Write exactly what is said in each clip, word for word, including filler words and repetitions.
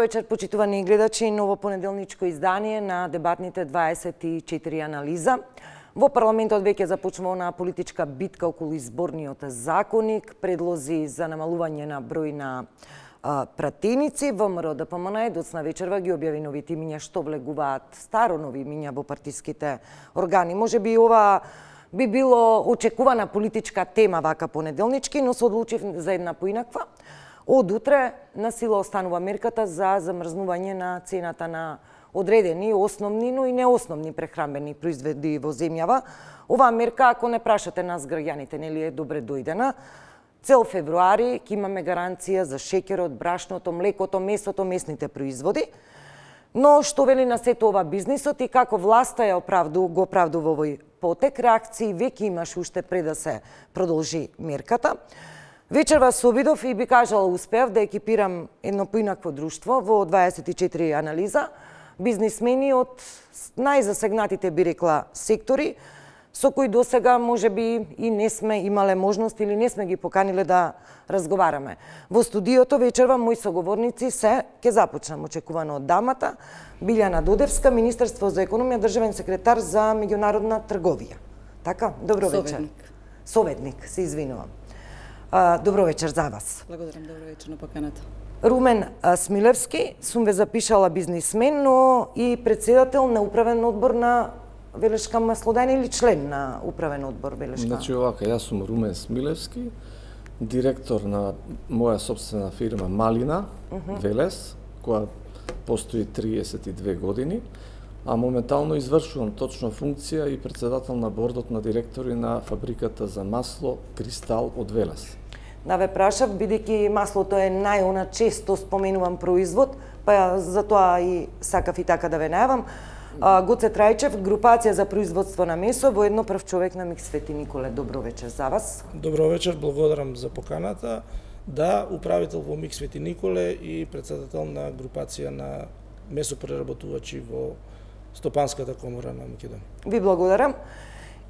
вечер, почитувани гледачи, ново понеделничко издание на дебатните дваесет и четири анализа. Во парламентот веќе започнува на политичка битка околу изборниот законник, предлози за намалување на број на а, пратеници. ВМРО Д П М Н доцна вечерва ги објави новите имиња што влегуваат старо нови имиња во партиските органи. Може би ова би било очекувана политичка тема вака понеделнички, но се одлучив за една поинаква. Од утре на сила останува мерката за замрзнување на цената на одредени основни, но и неосновни прехранбени производи во земјава. Оваа мерка, ако не прашате нас граѓаните, нели е добре дојдена. Цел февруари ќе имаме гаранција за шеќерот, брашното, млекото, месото, месните производи. Но што вели на сето ова бизнисот и како власта ја оправду, го оправдува овој потек, реакции веќе имаш уште пред да се продолжи мерката. Вечерва се обидов и би кажала успеав да екипирам едно поинакво друштво во дваесет и четири анализа, бизнисмени од најзасегнатите, би рекла, сектори, со кои досега можеби и не сме имале можност или не сме ги поканиле да разговараме. Во студиото вечерва мои соговорници се, ке започнам очекувано од дамата, Билјана Додевска, Министерство за економија, државен секретар за меѓународна трговија. Така, добро вечер. Советник. Советник, се извинувам. А, добро вечер за вас. Благодарам, добро вечер на поканата. Румен Смилевски, сум ве запишала бизнисмен, но и председател на управен одбор на Велешка Маслоден или член на управен одбор Велешка? Значи овака, јас сум Румен Смилевски, директор на моја собствена фирма Малина, uh -huh. Велес, која постои триесет и две години, а моментално извршувам точно функција и председател на бордот на директори на фабриката за масло Кристал од Велес. Да ве прашав, бидејќи маслото е најона често споменуван производ, па затоа и сакав и така да ве најавам. Гоце Трајчев, групација за производство на месо, воедно прв човек на Микс Свети Николе. Добро вечер за вас. Добро вечер, благодарам за поканата. Да, управител во Микс Свети Николе и председател на групација на месопреработувачи во Стопанската комора на Македонија. Ви благодарам.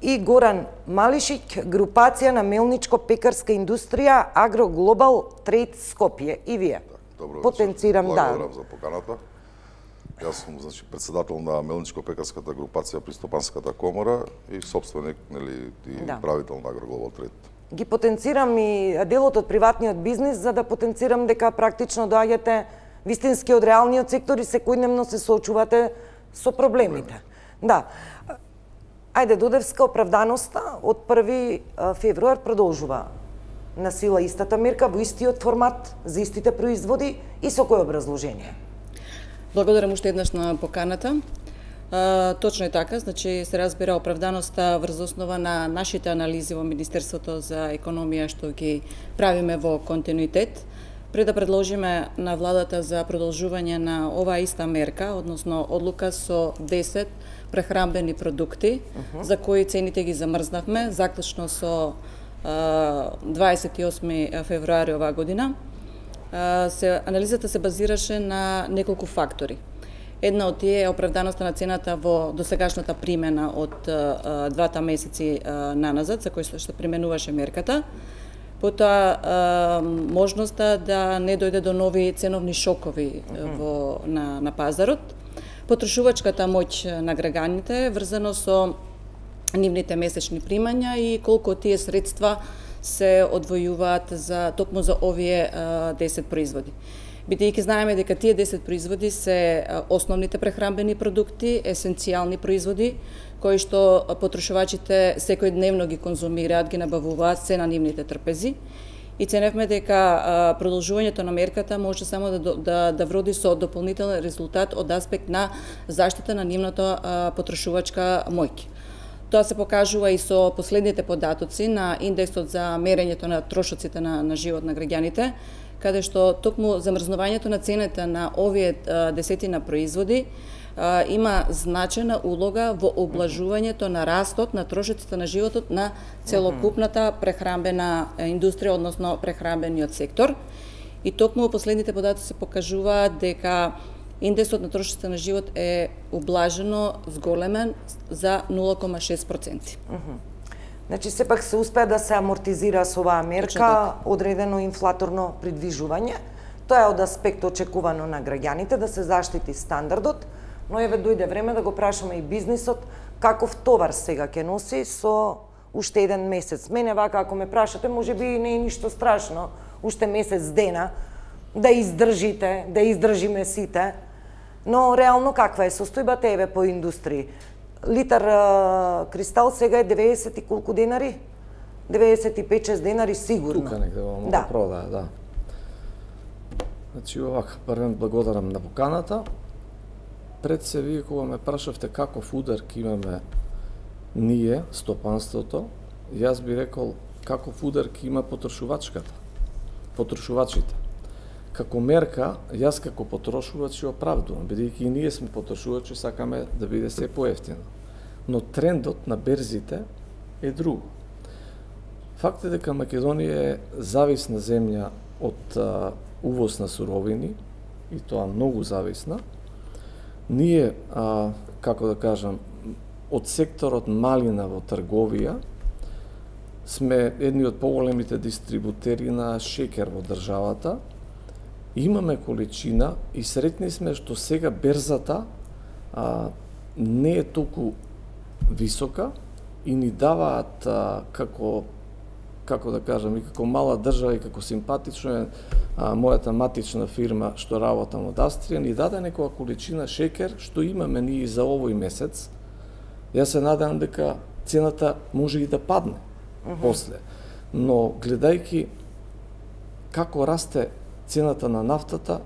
И Горан Малишик, групација на мелничко-пекарска индустрија Агро Глобал Трейд Скопје. И вие. Добро Потенцирам, вечер. да. Благодарам за поканата. Јас сум, значи, председател на мелничко-пекарската групација при Стопанската комора и собственик, нели, и да. правител на Агро Глобал Трейд. Ги потенцирам и делот од приватниот бизнис за да потенцирам дека практично доаѓате вистински од реалниот сектор и секојдневно се соочувате со проблемите. Да. Ајде, Додевска, оправданоста од први февруар продолжува на сила истата мерка во истиот формат за истите производи и со кој образложение? Благодарам уште еднаш на поканата. А, точно е така, значи се разбира оправданоста врз основа на нашите анализи во Министерството за економија што ги правиме во континуитет. Пред да предложиме на владата за продолжување на оваа иста мерка, односно одлука со десет прехранбени продукти, uh -huh. за кои цените ги замрзнавме, заклучно со а, дваесет и осми февруари оваа година. А, се, анализата се базираше на неколку фактори. Една од тие е оправданоста на цената во досегашната примена од а, двата месеци а, наназад, за кој што применуваше мерката. Потоа можноста да не дојде до нови ценовни шокови во, на, на пазарот. Потрошувачката моќ на граѓаните врзано со нивните месечни примања и колку тие средства се одвојуваат за токму за овие десет производи. Бидејќи знаеме дека тие десет производи се основните прехранбени продукти, есенцијални производи, кои што потрошувачите секојдневно ги конзумираат, ги набавуваат се на нивните трпези. И ценевме дека продолжувањето на мерката може само да, да, да вроди со дополнителен резултат од аспект на заштита на нивната потрошувачка моќ. Тоа се покажува и со последните податоци на индексот за мерењето на трошоците на, на живот на граѓаните, каде што токму замрзнувањето на цената на овие а, десетина производи а, има значајна улога во облажувањето на растот на трошоците на животот на целокупната прехранбена индустрија, односно прехранбениот сектор. И токму последните податоци се покажуваат дека индексот на трошоците на живот е ублажено зголемен за нула кома шест проценти. Значи, сепак се успеа да се амортизира со оваа мерка одредено инфлаторно придвижување. Тоа е од аспект очекувано на граѓаните да се заштити стандардот, но еве дојде време да го прашаме и бизнисот каков товар сега ќе носи со уште еден месец. Мене вака ако ме прашате, можеби не е ништо страшно, уште месец дена да издржите, да издржиме сите, но реално каква е состојбата еве по индустрии? Литар а, кристал сега е деветдесет и колку денари? деветдесет и пет шест денари сигурно. Тука негде во моја да. продаја, да. Значи овака, првен благодарам на поканата. Пред се вие кога ме прашавте каков удар ќе имаме ние, стопанството, јас би рекол каков удар ќе има потрошувачката, потрошувачите. Како мерка, јас како потрошувач ја оправдувам, бидејќи и ние сме потрошувачи, сакаме да биде се поевтино. Но трендот на берзите е друго. Факт е дека Македонија е зависна земја од а, увоз на суровини, и тоа многу зависна. Ние, а, како да кажам, од секторот малина во трговија, сме едни од поголемите дистрибутери на шеќер во државата. Имаме количина и сретни сме што сега берзата а, не е толку висока и ни даваат а, како како да кажам, и како мала држава и како симпатично е а, мојата матична фирма што работам од Австрија, ни даде некоја количина шеќер што имаме ние за овој месец. Јас се надевам дека цената може и да падне uh-huh. после. Но гледајќи како расте цената на нафтата,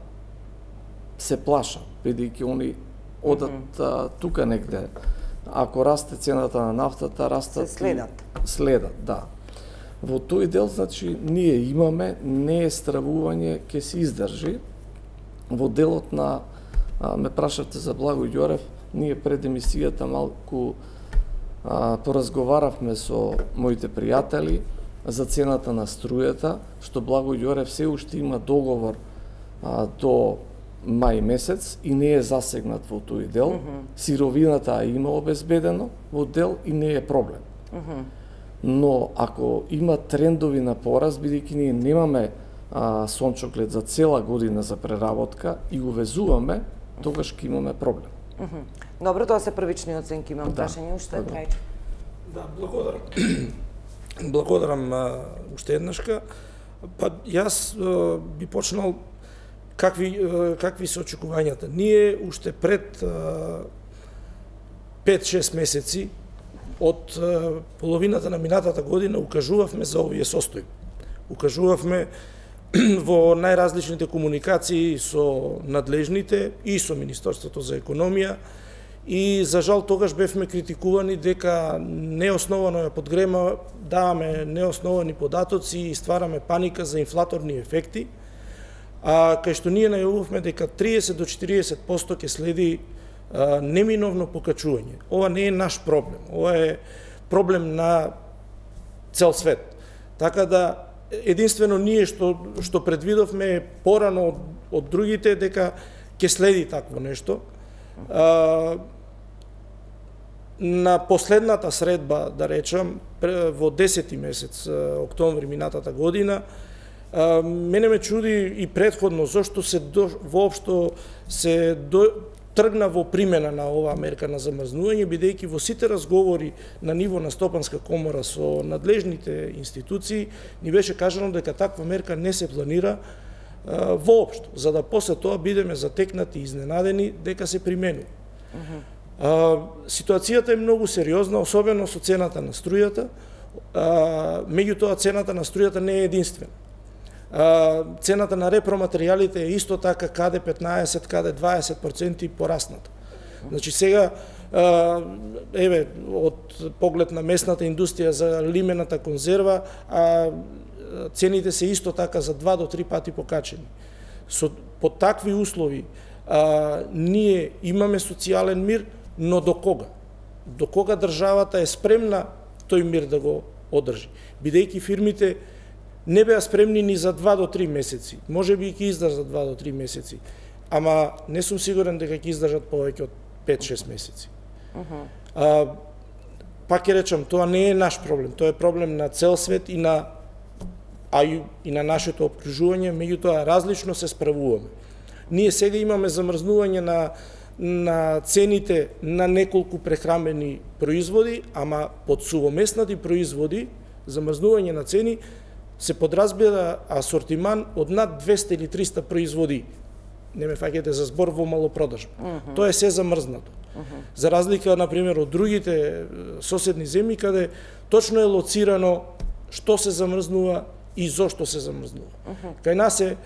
се плашам, бидејќи они одат uh-huh. а, тука негде. Ако расте цената на нафтата, растат се следат. Следат, да. Во тој дел, значи, ние имаме, не е стравување, ќе се издржи. Во делот на, а, ме прашавте за Благо Ѓорев, ние пред емисијата малку а, поразговаравме со моите пријатели за цената на струјата, што Благо Ѓорев се уште има договор а, до мај месец и не е засегнат во тој дел. Mm-hmm. Сировината има обезбедено во дел и не е проблем. Mm-hmm. Но ако има трендови на пораст, бидејќи ние немаме а, сончоглед за цела година за преработка и увезуваме, тогаш ќе имаме проблем. Mm -hmm. Добро, тоа се првични оценки, имам да. Прашање уште, Трајче. Да, благодарам. Благодарам а, уште еднашка. Па јас а, би почнал какви а, какви се очекувањата. Ние уште пред пет-шест месеци од а, половината на минатата година укажувавме за овие состојби. Укажувавме во најразличните комуникации со надлежните и со Министерството за економија и за жал тогаш бевме критикувани дека неосновано ја подгрема, даваме неосновани податоци и ствараме паника за инфлаторни ефекти, а кај што ние најавувавме дека триесет до четириесет проценти ќе следи а, неминовно покачување. Ова не е наш проблем, ова е проблем на цел свет. Така да единствено ние што што предвидовме порано од, од другите дека ќе следи такво нешто. А, на последната средба, да речам, во десети месец октомври минатата година, а, мене ме чуди и предходно зошто се до, воопшто се до, тргна во примена на оваа мерка на замрзнување, бидејќи во сите разговори на ниво на Стопанска комора со надлежните институции ни беше кажано дека таква мерка не се планира а, воопшто, за да после тоа бидеме затекнати и изненадени дека се применува. Uh-huh. А, ситуацијата е многу сериозна, особено со цената на струјата. А, меѓутоа цената на струјата не е единствена. А, цената на репроматеријалите е исто така каде петнаесет, каде дваесет проценти порасната. Значи сега а, еве од поглед на местната индустрија за лимената конзерва, а цените се исто така за два до три пати покачени. Со по такви услови а, ние имаме социјален мир, но до кога? До кога државата е спремна тој мир да го одржи? Бидејќи фирмите не беа спремни ни за два до три месеци. Може би ќе издржат два до три месеци, ама не сум сигурен дека ќе издржат повеќе од пет-шест месеци. Uh-huh. А, пак ќе речам, тоа не е наш проблем, тоа е проблем на цел свет и на а и, и на нашето обкружување, меѓутоа различно се справуваме. Ние сега имаме замрзнување на на цените на неколку прехрамбени производи, ама под сувоместнати производи, замрзнување на цени се подразбира асортиман од над двесте или триста производи. Не ме фаќате за збор во малопродажба. Uh -huh. Тоа е се замрзнато. Uh -huh. За разлика, например, од другите соседни земји, каде точно е лоцирано што се замрзнува и зошто се замрзнува. Uh -huh. Кај нас е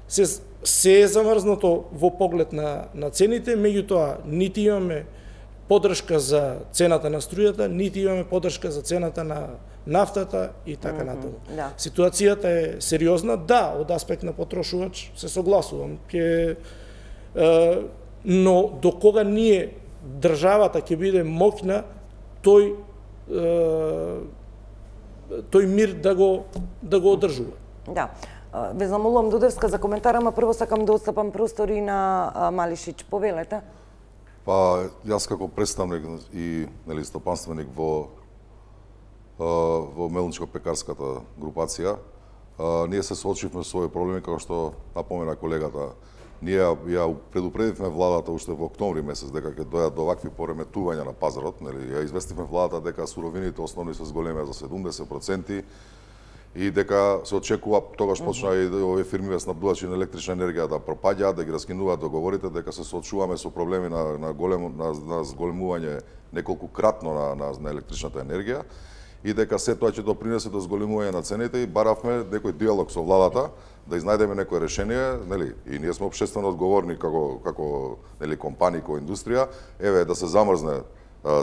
се, се е замрзнато во поглед на, на цените, меѓутоа нити имаме поддршка за цената на струјата, нити имаме поддршка за цената на нафтата и така mm -hmm. натаму. Да. Ситуацијата е сериозна, да, од аспект на потрошувач се согласувам, ќе е, но до кога ние државата ќе биде моќна тој е, тој мир да го да го одржува. Да. Ве замолувам Дудевска за коментар, ама прво сакам да отстапам простори на Малишич. Повелете. Па, јас како представник и нели стопанственик во во мелничко-пекарската групација, ние се соочивме со овој проблеми, како што напомена колегата. Ние ја предупредивме владата уште во октомври месец дека ќе дојдат до вакви пореметувања на пазарот, нели ја известивме владата дека суровините основни се зголемеа за седумдесет проценти и дека се очекува тогаш почна и овие фирми снабдувачи на електрична енергија да пропаѓаат, да ги раскинуваат договорите, дека се соочуваме со проблеми на на големо на, на зголемување неколку кратно на, на на електричната енергија и дека се тоа ќе допринесе до зголемување на цените и баравме некој диалог со владата да изнајдеме некое решение, нели, и ние сме општествено одговорни како како нели компании, како индустрија, еве да се замрзне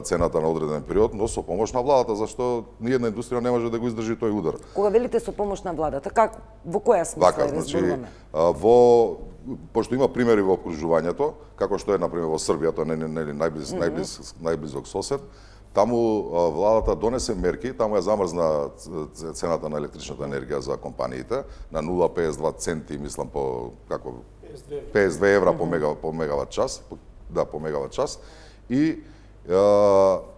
цената на одреден период, но со помош на владата, зашто ниедна индустрија не може да го издржи тој удар. Кога велите со помош на владата, как во која смисла така, значи, во пошто има примери во окружувањето, како што е на пример во Србија, тоа не не најблиз mm -hmm. најблиз најблизок сосед, таму владата донесе мерки, таму ја замрзна цената на електричната енергија за компаниите на нула целу педесет и два центи, мислам по како педесет и две евра mm -hmm. по мега по мегават час, да по мегават час и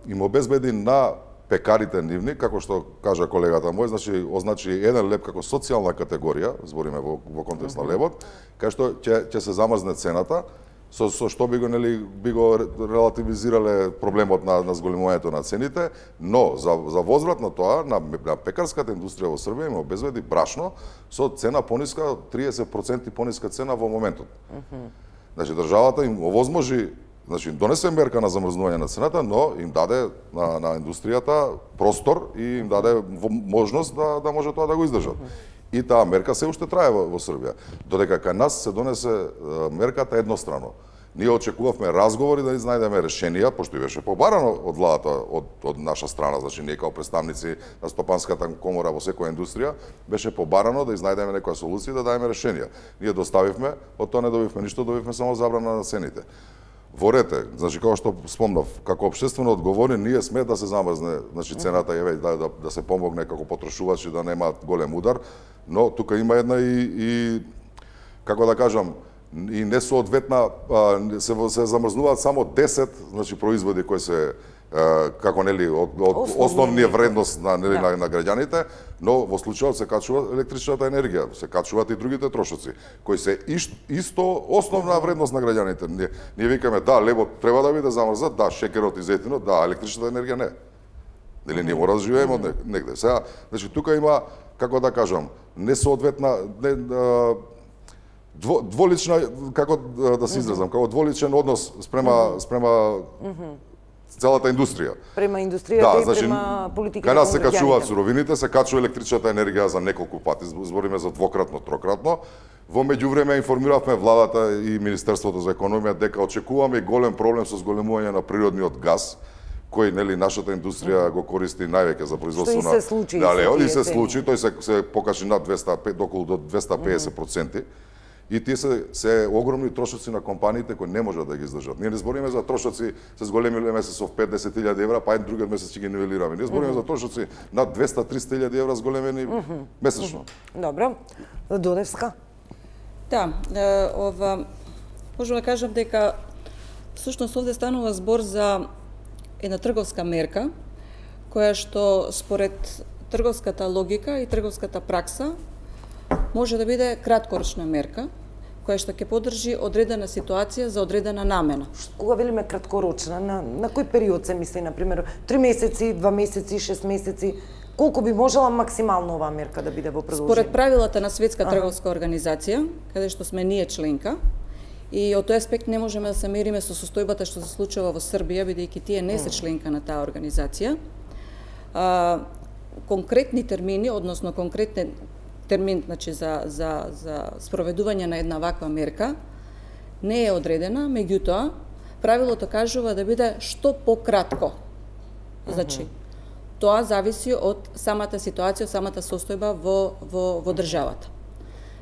им обезбеди на пекарите нивни, како што кажа колегата мој, значи означи еден леб како социјална категорија, збориме во, во контекст mm -hmm. на лебот, кај што ќе ќе се замрзне цената, со, со што би го нели би го релативизирале проблемот на на зголемувањето на цените, но за за возврат на тоа на, на пекарската индустрија во Србија им обезбеди брашно со цена пониска, триесет проценти пониска цена во моментот. Mm -hmm. Значи државата им овозможи, значи донесе мерка на замрзнување на цената, но им даде на, на индустријата простор и им даде можност да, да може тоа да го издржат. И таа мерка се уште трае во, во Србија. Додека кај нас се донесе мерката еднострано. Ние очекувавме разговори да изнајдеме решенија, пошто и беше побарано од владата, од, од наша страна, значи ние као представници на Стопанската комора во секоја индустрија, беше побарано да изнајдеме некоја солуција да даеме решенија. Ние доставивме, од тоа не добивме ништо, добивме само забрана на цените. Во рете, значи како што спомнав, како општествено одговорни, ние сме да се замрзне, значи цената еве да, да да се помогне како потрошувачи да нема голем удар, но тука има една и, и како да кажам, и несоодветна се се замрзнуваат само десет, значи производи кои се како нели од, од основнија вредност на нели да. на, на граѓаните, но во случајот се качува електричната енергија, се качуваат и другите трошоци, кои се исто основна вредност на граѓаните. Ние, ние викаме да, лебот треба да биде замрзнат, да, шекерот и зетинот, да, електричната енергија не. Нели ние мора да живееме од негде. Сега, значи тука има, како да кажам, несоодветна не, дво, дволична, како да се изразам, како дволичен однос спрема спрема целата индустрија. Према индустријата да, и значи, према политиката. Кај нас се качуваат суровините, се качува електричната енергија за неколку пати, збориме за двократно, трократно. Во меѓувреме информиравме владата и Министерството за економија дека очекуваме голем проблем со зголемување на природниот газ, кој нели нашата индустрија го користи највеќе за производство на. Што и се случи. Да, и се случи, тој се се покажи над двесте околу до двесте педесет проценти. И тие се, се огромни трошоци на компаниите кои не можат да ги издржат. Ние не збориме за трошоци се зголемиле месец со петдесет илјади евра, па еден другиот месец ќе ги нивелираме. Ние збориме mm -hmm. за трошоци над двесте до триста илјади евра зголемени mm -hmm. месечно. Mm -hmm. Добро. Дудевска. Да, ова можам да кажам дека всушност овде станува збор за една трговска мерка која што според трговската логика и трговската пракса може да биде краткорочна мерка, која што ќе поддржи одредена ситуација за одредена намена. Кога велиме краткорочна, на, на кој период се мисли, например, три месеци, два месеци, шест месеци, колку би можела максимално оваа мерка да биде во продолжение? Според правилата на Светска трговска организација, каде што сме ние членка, и од тој аспект не можеме да се мериме со состојбата што се случува во Србија, бидејќи тие не се членка на таа организација. А, конкретни термини, односно конкретни термин, значи за за за спроведување на една ваква мерка не е одредена, меѓутоа правилото кажува да биде што пократко. Значи, тоа зависи од самата ситуација, самата состојба во во во државата.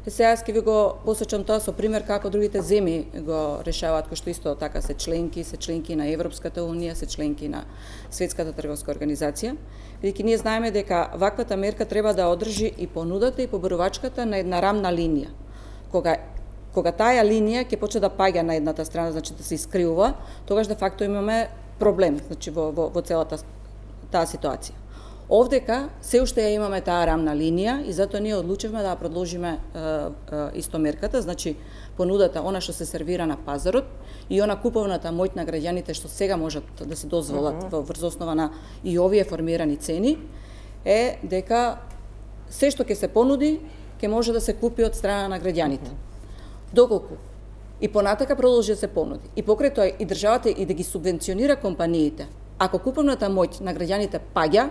И сега ќе ви го посечам тоа со пример како другите земји го решаваат, кои што исто така се членки, се членки на Европската унија, се членки на Светската трговска организација. Бидејќи ние знаеме дека ваквата мерка треба да одржи и понудата и побарувачката на една рамна линија. Кога кога таа линија ќе почне да паѓа на едната страна, значи да се искривува, тогаш де факто имаме проблем, значи во во, во целата таа ситуација. Овдека се уште ја имаме таа рамна линија и затоа ние одлучивме да ја продолжиме е, е, исто мерката, значи понудата, она што се сервира на пазарот и она куповната моќ на граѓаните што сега можат да се дозволат uh -huh. во врз основа на и овие формирани цени, е дека се што ќе се понуди ќе може да се купи од страна на граѓаните. Uh -huh. Доколку и понатака продолжи да се понуди и покрај тоа и државата и да ги субвенционира компаниите, ако куповната моќ на граѓаните паѓа,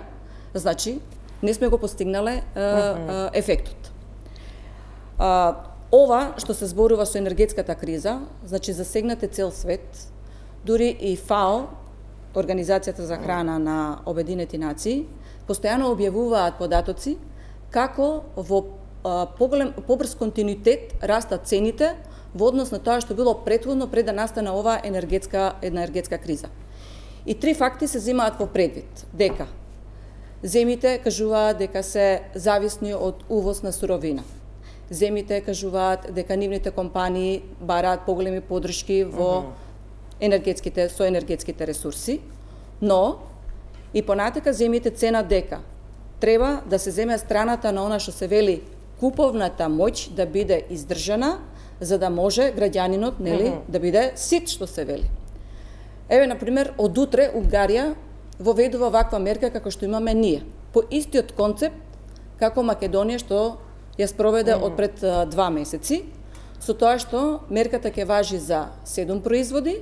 значи, не сме го постигнале е, е, ефектот. А, ова што се зборува со енергетската криза, значи засегнате цел свет, дури и ФАО, Организацијата за храна на Обединети нации, постојано објавуваат податоци како во а, поголем, побрз континуитет растат цените во однос на тоа што било претходно пред да настане оваа енергетска, енергетска криза. И три факти се земаат во предвид, дека земите кажуваат дека се зависни од увоз на суровина. Земите кажуваат дека нивните компании бараат поголеми поддршки во енергетските со енергетските ресурси, но и понатака земите ценат дека треба да се земе страната на она што се вели куповната моќ да биде издржана за да може граѓанинот, нели, uh -huh. да биде сит, што се вели. Еве, например, од утре Унгарија воведува ваква мерка како што имаме ние, по истиот концепт како Македонија што ја спроведе mm. од пред два месеци, со тоа што мерката ќе важи за седум производи,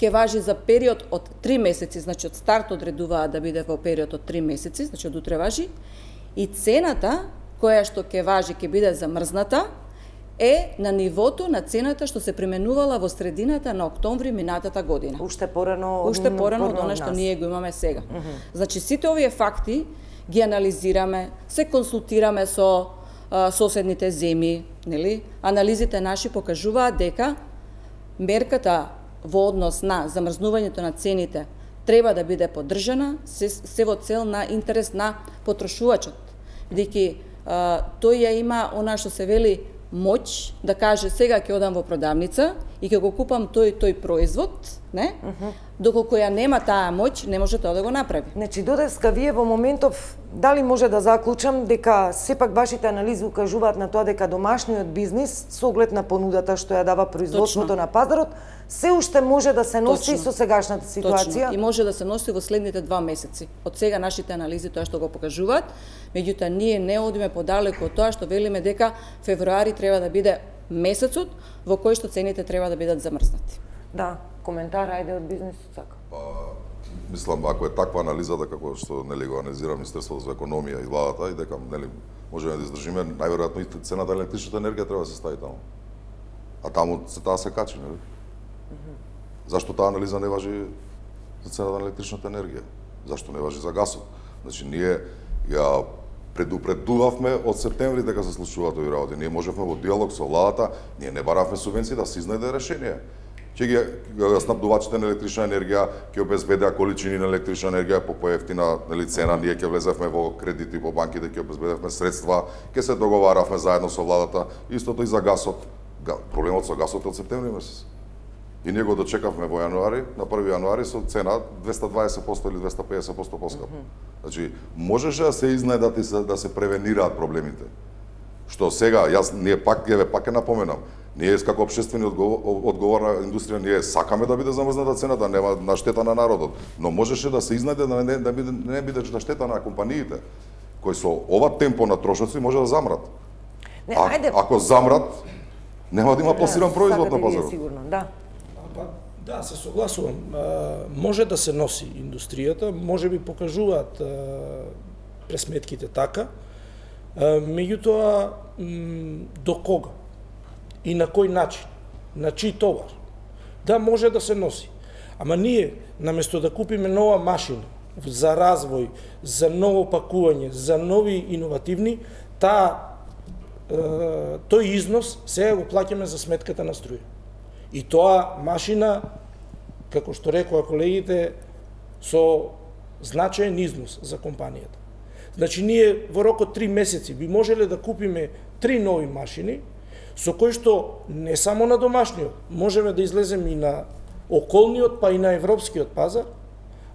ќе важи за период од три месеци, значи од старт одредуваат да биде во период од три месеци, значи од утре важи, и цената која што ќе важи ќе биде замрзната, е на нивото на цената што се применувала во средината на октомври минатата година. Уште порано од Уште порано од она што ние го имаме сега. Mm -hmm. Значи сите овие факти ги анализираме, се консултираме со а, соседните земји, нели? Анализите наши покажуваат дека мерката во однос на замрзнувањето на цените треба да биде поддржана, се, се во цел на интерес на потрошувачот. Бидејќи тој ја има она што се вели моќ да каже сега ќе одам во продавница и ќе го купам тој тој производ, не? Uh -huh. Доколку ја нема таа моќ, не може тоа да го направи. Значи додеска вие во моментов дали може да заклучам дека сепак вашите анализи укажуваат на тоа дека домашниот бизнис со оглед на понудата што ја дава производството на пазарот се уште може да се носи Точно. Со сегашната ситуација. Точно. И може да се носи во следните два месеци. Од сега нашите анализи тоа што го покажуваат, меѓутоа ние не одиме подалеку од тоа што велиме дека февруари треба да биде месецот во кој што цените треба да бидат замрзнати. Да, коментар ајде од бизнисот сака. Па, мислам, ако е таква анализа да како што нели го анализира Министерството за економија и владата и дека нели можеме да издржиме, најверојатно и цената на електричната енергија треба да се стави таму. А таму се таа се качи, нели? Зашто таа анализа не важи за цената на електричната енергија? Зашто не важи за гасот? Значи, ние ја предупредувавме од септември дека се случуваат овие работи. Ние можевме во диалог со владата, ние не баравме субвенции да се изнајде решение. Ќе ги снабдувачите на електрична енергија ќе обезбедеа количини на електрична енергија по поевтина нели цена, ние ќе влезевме во кредити во банките, ќе обезбедевме средства, ќе се договаравме заедно со владата, истото и за гасот. Проблемот со гасот е од септември месец. И ние го дочекавме во јануари, на први јануари со цена двесте дваесет проценти или двесте педесет проценти поскапа. Mm -hmm. Значи, можеше да се изнајдат и да се превенираат проблемите. што сега јас ние пак еве пак ќе напоменам, ние како општествени одговорна индустрија ние сакаме да биде замрзната цената, нема на штета на народот, но можеше да се изнајде да не да биде не биде на штета на компаниите кои со ова темпо на трошоци може да замрат. Не, а, ајде. Ако замрат, нема да има пласиран производ на пазарот. Сигурно, да. Па, да, се согласувам. А, може да се носи индустријата, може би покажуваат а, пресметките така, а, меѓутоа до кога и на кој начин, на чиј товар. Да, може да се носи. Ама ние, наместо да купиме нова машина за развој, за ново пакување, за нови иновативни, таа тој износ сега го плаќаме за сметката на струја. И тоа машина, како што рекоа колегите, со значаен износ за компанијата. Значи, ние во рокот три месеци би можеле да купиме три нови машини, со кои што не само на домашниот, можеме да излеземе и на околниот, па и на европскиот пазар,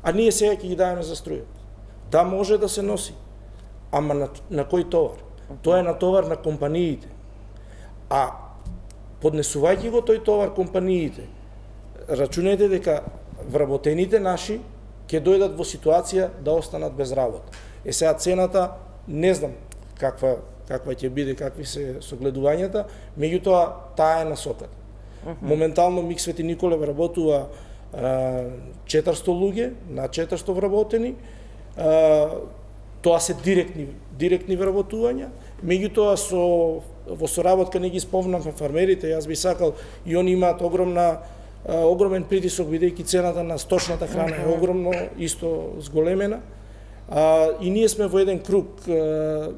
а ние сега ќе ги даваме за струја. Да, може да се носи, ама на, на кој товар? Тоа е на товар на компаниите. А поднесувајќи го тој товар компаниите, рачунајте дека вработените наши ќе дојдат во ситуација да останат без работа. Е сега цената, не знам каква каква ќе биде, какви се согледувањата, меѓутоа таа е насоката. Uh -huh. Моментално МИК Свети Николе вработува а, четиристо луѓе, на четиристо вработени, а, тоа се директни директни вработувања, меѓутоа со во соработка не ги спомнавме фармерите, јас би сакал и они имаат огромна а, огромен притисок бидејќи цената на сточната храна е огромно исто зголемена. А, и ние сме во еден круг, а,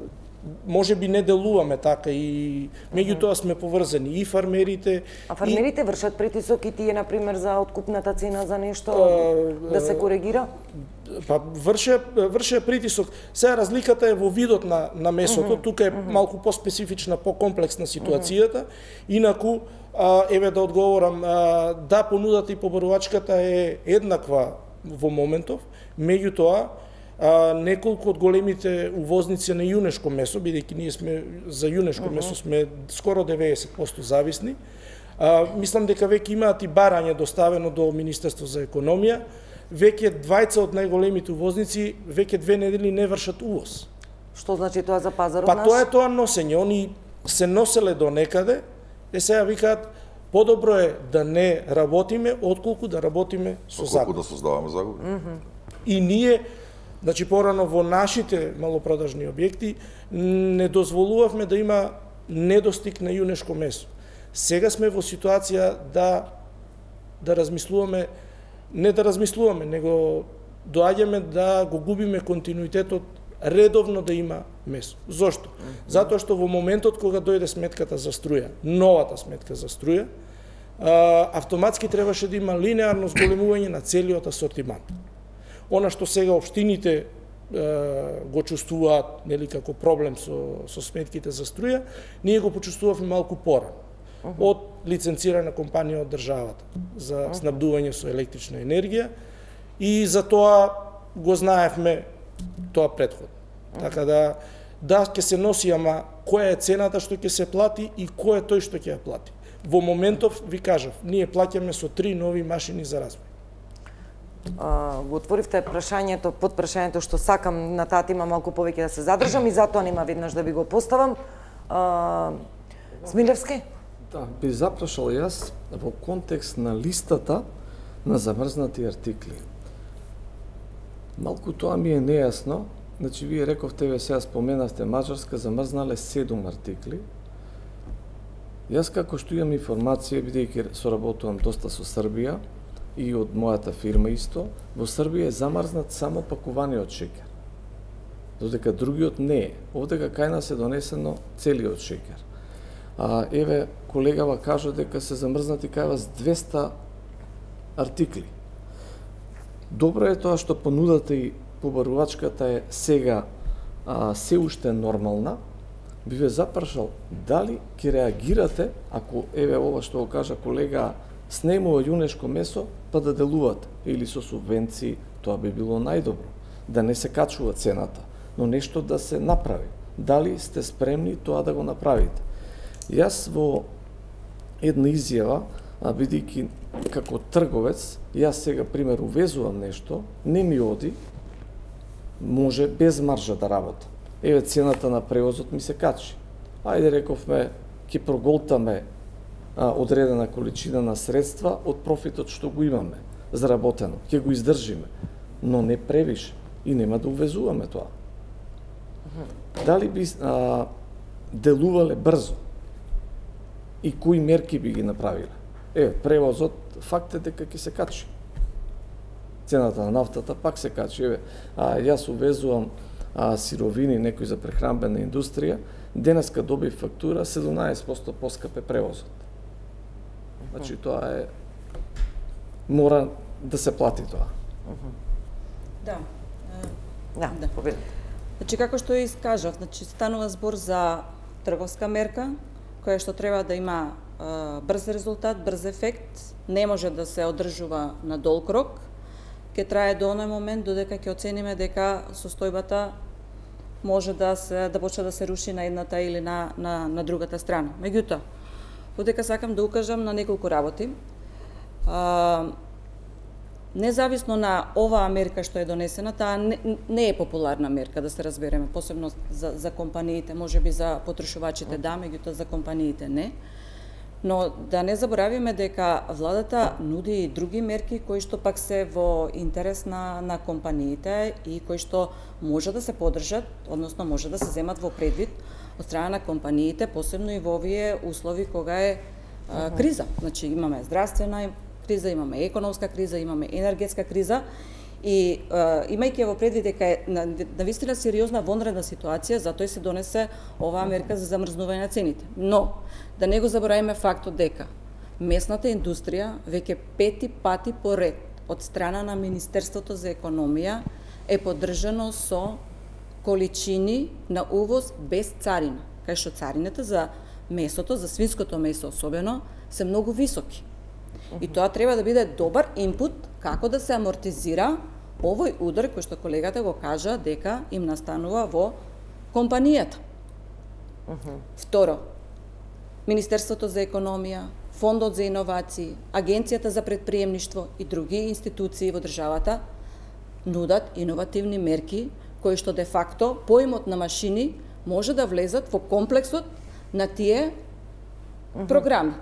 може би не делуваме така и меѓутоа сме поврзани и фармерите. А фармерите и... вршат притисок и тие, например, за откупната цена за нешто а, да се коригира? Па врше врше притисок. Сега разликата е во видот на на месото, uh -huh. тука е uh -huh. малку по-специфична, по-комплексна ситуацијата. Uh -huh. Инаку а, еве да одговорам, а, да, понудата и побарувачката е еднаква во моментов, меѓутоа А, неколку од големите увозници на јунешко месо, бидејќи ние сме за јунешко uh -huh. месо сме скоро деветдесет проценти зависни. А, мислам дека веќе имаат и барање доставено до Министерство за економија. Веќе двајца од најголемите увозници веќе две недели не вршат увоз. Што значи тоа за пазарот па, наш? Па тоа е тоа носење. Они се носеле до некаде, е сега викаат подобро е да не работиме отколку да работиме со закон. Отколку да создаваме загуби. Uh -huh. И ние, значи порано во нашите малопродажни објекти не дозволувавме да има недостиг на јунешко месо. Сега сме во ситуација да да размислуваме, не да размислуваме, него доаѓаме да го губиме континуитетот редовно да има месо. Зошто? Затоа што во моментот кога дојде сметката за струја, новата сметка за струја, автоматски требаше да има линеарно зголемување на целиот асортимент. Она што сега општините е, го чувствуваат, нели, како проблем со, со сметките за струја, ние го почувствувавме малку порано. Uh -huh. Од лиценцирана компанија од државата за uh -huh. снабдување со електрична енергија и за тоа го знаевме тоа претходно. Uh -huh. Така да, да, ќе се носи, ама која е цената што ќе се плати и кој е тој што ќе ја плати. Во моментов, ви кажав, ние плаќаме со три нови машини за развој. Uh, го отворивте прашањето, под прашањето што сакам на таа тема малку повеќе да се задржам и затоа нема веднаш да ви го поставам. Uh, Смилевски? Да, би запрашал јас во контекст на листата на замрзнати артикли. Малку тоа ми е нејасно, значи вие рековте, ве сега споменавте Мажарска замрзнале седум артикли. Јас како што имам информација, бидејќи соработувам доста со Србија, и од мојата фирма исто, во Србија е замрзнат само пакуваниот шеќер. Додека другиот не е. Овдека кај нас е донесено целиот шеќер. А еве колегава кажа дека се замрзнати кај вас двеста артикли. Добро е тоа што понудата и побарувачката е сега а, се уште нормална. Би ве запрашал дали ќе реагирате ако еве ова што го кажа колега снемува јунешко месо, па да делувате, или со субвенции, тоа би било најдобро. Да не се качува цената, но нешто да се направи. дали сте спремни тоа да го направите. Јас во една изјава, а бидејќи како трговец, јас сега пример увезувам нешто, не ми оди, може без маржа да работам. Еве цената на превозот ми се качи. Ајде рековме, ќе проголтаме а, одредена количина на средства од профитот што го имаме заработено, ќе го издржиме, но не превише и нема да увезуваме тоа. Дали би а, делувале брзо и кои мерки би ги направиле? Е, превозот, факт е дека ќе се качи. Цената на нафтата пак се качи. Еве, а, јас увезувам а, сировини, некои за прехранбена индустрија, денеска доби фактура седумнаесет проценти поскапе превозот. Значи тоа е, мора да се плати тоа. Да. Да, да. Победите. Значи, како што искажав, значи, станува збор за трговска мерка, која што треба да има а, брз резултат, брз ефект, не може да се одржува на долг рок, ќе трае до оној момент додека ќе оцениме дека состојбата може да се да почне да се руши на едната или на на на другата страна. Меѓутоа, додека сакам да укажам на неколку работи. А, Независно на оваа мерка што е донесена, таа не, не е популарна мерка, да се разбереме, посебно за, за компаниите, можеби за потрошувачите да, меѓутоа за компаниите не. Но да не заборавиме дека владата нуди и други мерки кои што пак се во интерес на, на компаниите и кои што може да се подржат, односно може да се земат во предвид од страна на компаниите, посебно и во овие услови кога е а, криза. Значи имаме здравствена криза, имаме економска криза, имаме енергетска криза и а, имајќи во предвид дека е навистина сериозна вонредна ситуација, затоа и се донесе оваа мерка за замрзнување на цените. Но да не го забораваме фактот дека месната индустрија веќе пети пати поред од страна на Министерството за економија е поддржано со количини на увоз без царина, кај што царината за месото, за свинското месо особено, се многу високи. И тоа треба да биде добар инпут како да се амортизира овој удар кој што колегата го кажа дека им настанува во компанијата. Uh -huh. Второ, Министерството за економија, Фондот за иновации, Агенцијата за предприемништво и други институции во државата нудат иновативни мерки кои што де факто поимот на машини може да влезат во комплексот на тие uh -huh. програми.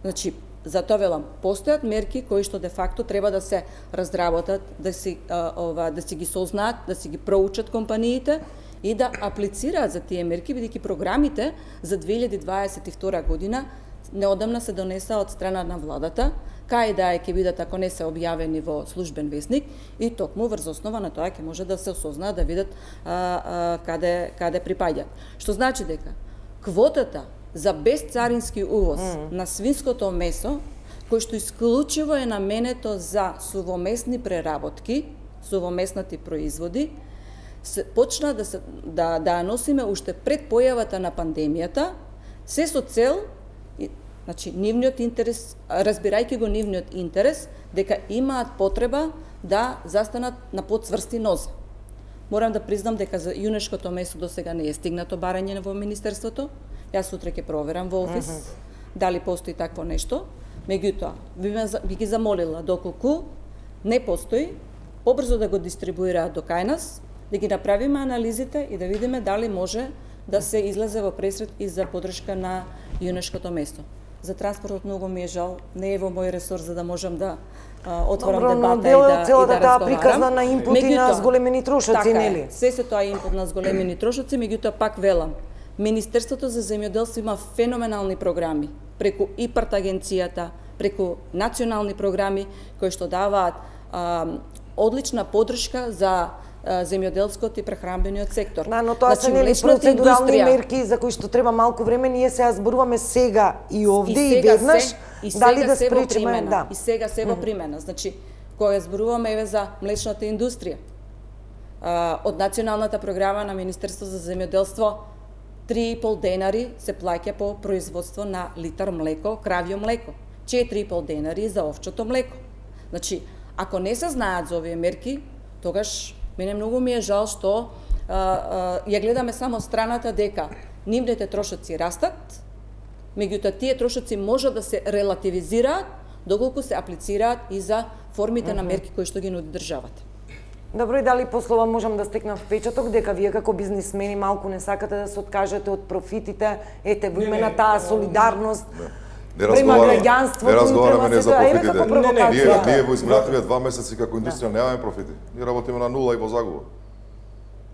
Значи, затоа велам, постојат мерки кои што де факто треба да се разработат, да си а, ова да си ги сознаат, да си ги проучат компаниите и да аплицираат за тие мерки, бидејќи програмите за две илјади дваесет и втора година неодамна се донеса од страна на владата, кај да е ќе бидат ако не се објавени во службен весник и токму врз основа на тоа ќе може да се осознаат, да видат а, а, каде каде припаѓаат. Што значи дека квотата за безцарински увоз mm. на свинското месо, кој што исклучиво е наменето за сувомесни преработки, сувомеснати производи, се почна да се да да носиме уште пред појавата на пандемијата, се со цел, значи нивниот интерес, разбирајќи го нивниот интерес, дека имаат потреба да застанат на подцврсти нозе. Морам да признам дека за јунешкото месо до сега не е стигнато барање во министерството. Јас сутре ќе проверам во офис uh -huh. дали постои такво нешто. Меѓутоа, би, би ги замолила доколку не постои, побрзо да го дистрибуираат до кај нас, да ги направиме анализите и да видиме дали може да се излезе во пресред и за поддршка на јунешкото месо. За транспортот многу ми е жал, не е во мој ресор за да можам да а, отворам Добро, дебата но и да, и целата да таа разговарам. приказна на инпути на зголемени трошоци, нели? Се се тоа инпут на зголемени трошоци, меѓутоа пак велам, Министерството за земјоделство има феноменални програми преку ИПАРТ агенцијата, преку национални програми кои што даваат а, одлична поддршка за земјоделскиот и прехранбениот сектор. Да, но тоа значи, се нели процедурални индустрија... мерки за кои што треба малку време, ние сега зборуваме сега и овде и, и веднаш, се, и дали сега да се спречиме, да. И сега се во примена. Значи, кога зборуваме еве за млечната индустрија, а, од националната програма на Министерството за земјоделство три и пол денари се плаќа по производство на литар млеко, кравјо млеко, четири и пол денари за овчото млеко. Значи, ако не се знаат за овие мерки, тогаш мене многу ми е жал што ја гледаме само страната дека нивните трошоци растат, меѓутоа тие трошоци може да се релативизираат доколку се аплицираат и за формите на мерки кои што ги нуди државата. Добро, и дали послова можам да стекнам впечаток дека вие како бизнисмени малку не сакате да се откажете од профитите, ете во име на таа солидарност према граѓанството, не разговараме не за профитите. Ние, ние во изминативе два месеци како индустрија немаме профити. Ние работиме на нула и во загуба.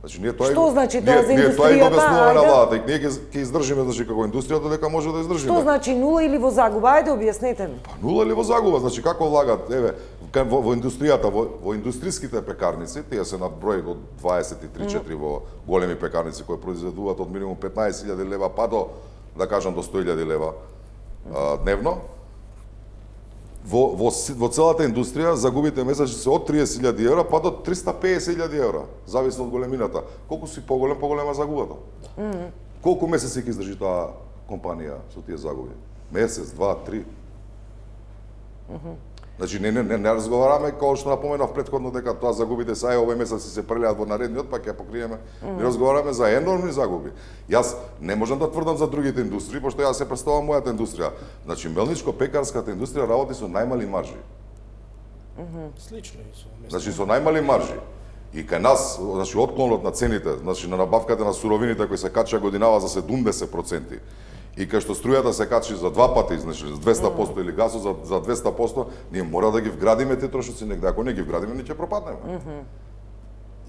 Значи ние тоа Што значи тоа за индустријата? Ние тоа и објаснуваме на ајде? владата и ние ќе издржиме значи како индустријата дека може да издржиме. Што значи нула или во загуба? Ајде објаснете ми. Па нула или во загуба, значи како влагат, еве, во, во индустријата, во, во индустријските пекарници, тие се на број од дваесет и три четири во големи пекарници кои произведуваат од минимум петнаесет илјади лева па до, да кажам, до сто илјади лева а, дневно. Во, во, во целата индустрија загубите месечни се од триесет илјади евра па до триста песет илјади евра, зависно од големината. Колку си поголем, поголема загубата. Mm -hmm. Колку месеци ќе издржи таа компанија со тие загуби? Месец, два, три. Mm -hmm. Значи не не не, не разговараме како што напоменав претходно дека тоа загубите са овој месец се прелеат во наредниот, па ќе покриеме. Mm -hmm. Не разговараме за енормни загуби. Јас не можам да тврдам за другите индустрии, пошто јас се представувам мојата индустрија. Значи мелничко-пекарската индустрија работи со најмали маржи. Mm -hmm. Слично и со. Значи со најмали маржи. И кај нас, значи отклонот на цените, значи на набавката на суровините кои се кача годинава за седумдесет проценти. И кај што струјата се качи за два пати, значи за двесте проценти или газот за, за двесте проценти, ние мора да ги вградиме тие трошоци негде. Ако не ги вградиме, ние ќе пропаднеме. Mm -hmm.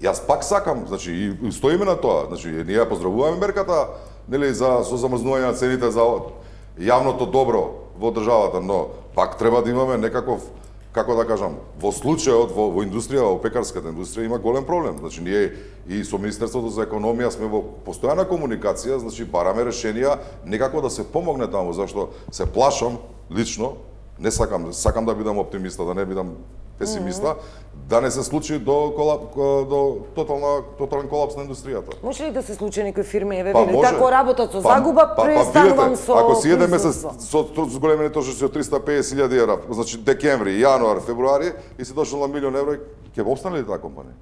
Јас пак сакам, значи и стоиме на тоа. Значи ние ја поздравуваме мерката, нели, за со замрзнување на цените за јавното добро во државата, но пак треба да имаме некаков, како да кажам, во случајот во, во индустрија, во пекарската индустрија има голем проблем. Значи ние и со Министерството за економија сме во постојана комуникација, значи бараме решенија некако да се помогне таму, зашто се плашам лично, не сакам, сакам да бидам оптимиста, да не бидам песимиста, mm -hmm. да не се случи до колап, до тотална тотален колапс на индустријата. Може ли да се случи некои фирми, еве, па, вели, тако работат со па, загуба, па, престанувам па, со ако си еден месец производство. со зголемени трошоци од триста песет илјади евра, значи декември, јануар, февруари и се дошол на милион евра, ќе обстане ли таа компанија?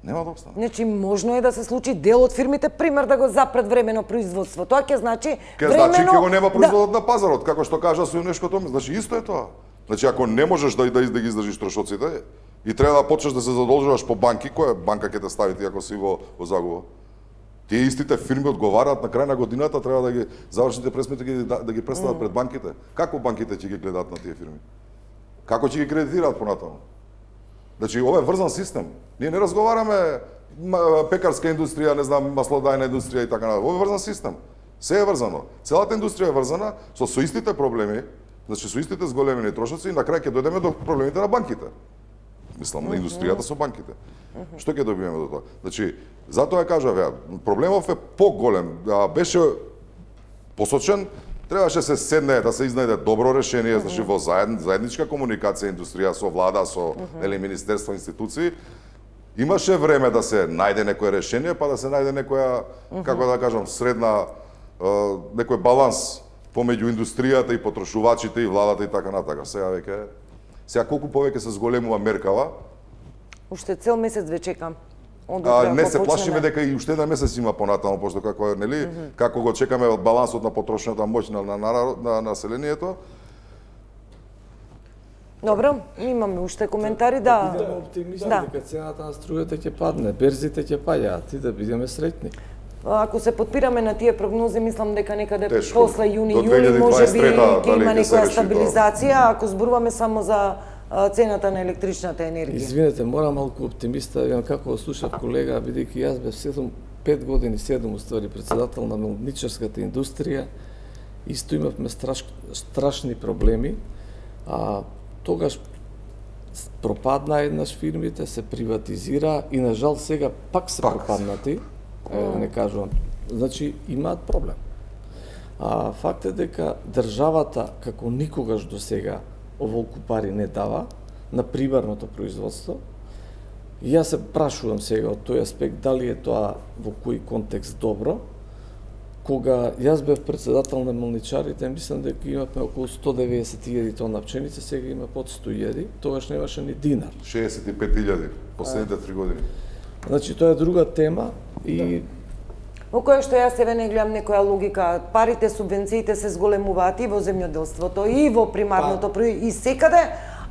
Нема да обстане. Значи можно е да се случи дел од фирмите пример да го запред времено производство. Тоа ќе значи ќе времено значи ќе го нема производот да... на пазарот, како што кажа Сојунешкото, значи исто е тоа. Значи ако не можеш да да, да ги издржиш трошоците и треба да почнеш да се задолжуваш по банки, која банка ќе те стави ти ако си во, во загуба? Тие истите фирми одговараат на крај на годината, треба да ги завршните пресмети ги да, да ги представат mm. пред банките. Како банките ќе ги гледаат на тие фирми? Како ќе ги кредитираат понатаму? Значи ова е врзан систем. Ние не разговараме пекарска индустрија, не знам, маслодајна индустрија и така натаму. Ова е врзан систем. Се е врзано. Целата индустрија е врзана со со истите проблеми, значи со истите зголемени трошоци и на крај ќе дојдеме до проблемите на банките. Мислам, на индустријата со банките. Што ќе добиеме до тоа? Значи, затоа ја кажав ја, проблемов е поголем. Да беше посочен, требаше се седне да се изнајде добро решение, значи во заедн, заедничка комуникација индустрија со влада, со нели министерства, институции. Имаше време да се најде некое решение, па да се најде некоја, како да кажам, средна некој баланс помеѓу индустријата и потрошувачите и владата и така натака. Сега веќе Сега колку повеќе се зголемува меркава? Уште цел месец ве чекам. А, не се плашиме дека и уште еден месец има понатаму, пошто како нели, mm -hmm. како го чекаме од балансот на потрошната моќ на, на, на, на населението. Добро, имаме уште коментари, да. Бидеме оптимисти да. дека цената на струјата ќе падне, берзите ќе паѓаат и да бидеме среќни. Ако се подпираме на тие прогнози, мислам дека некаде Тешко. после јуни-јули може би ќе има некоја стабилизација, ако зборуваме само за цената на електричната енергија. Извинете, морам малку оптимиста, ја како слушав колега, бидејќи јас бев седум, пет години, седум уствари председател на мелничарската индустрија, исто имавме страш, страшни проблеми, а тогаш пропадна еднаш фирмите, се приватизира и на жал сега пак се пак. пропаднати. Е, да не кажувам. Значи, имаат проблем. А факт е дека државата, како никогаш до сега, оволку пари не дава на примерното производство. И јас се прашувам сега од тој аспект, дали е тоа во кој контекст добро. Кога јас бев председател на мелничарите, мислам дека имавме околу сто деветдесет илјади тона пченица, сега има под сто илјади, тогаш немаше ни динар. шеесет и пет илјади, последните три години. Значи тоа е друга тема и Во која што јас еве не гледам некоја логика, парите, субвенциите се зголемуваат и во земјоделството, и во примарното па. производство, и секаде,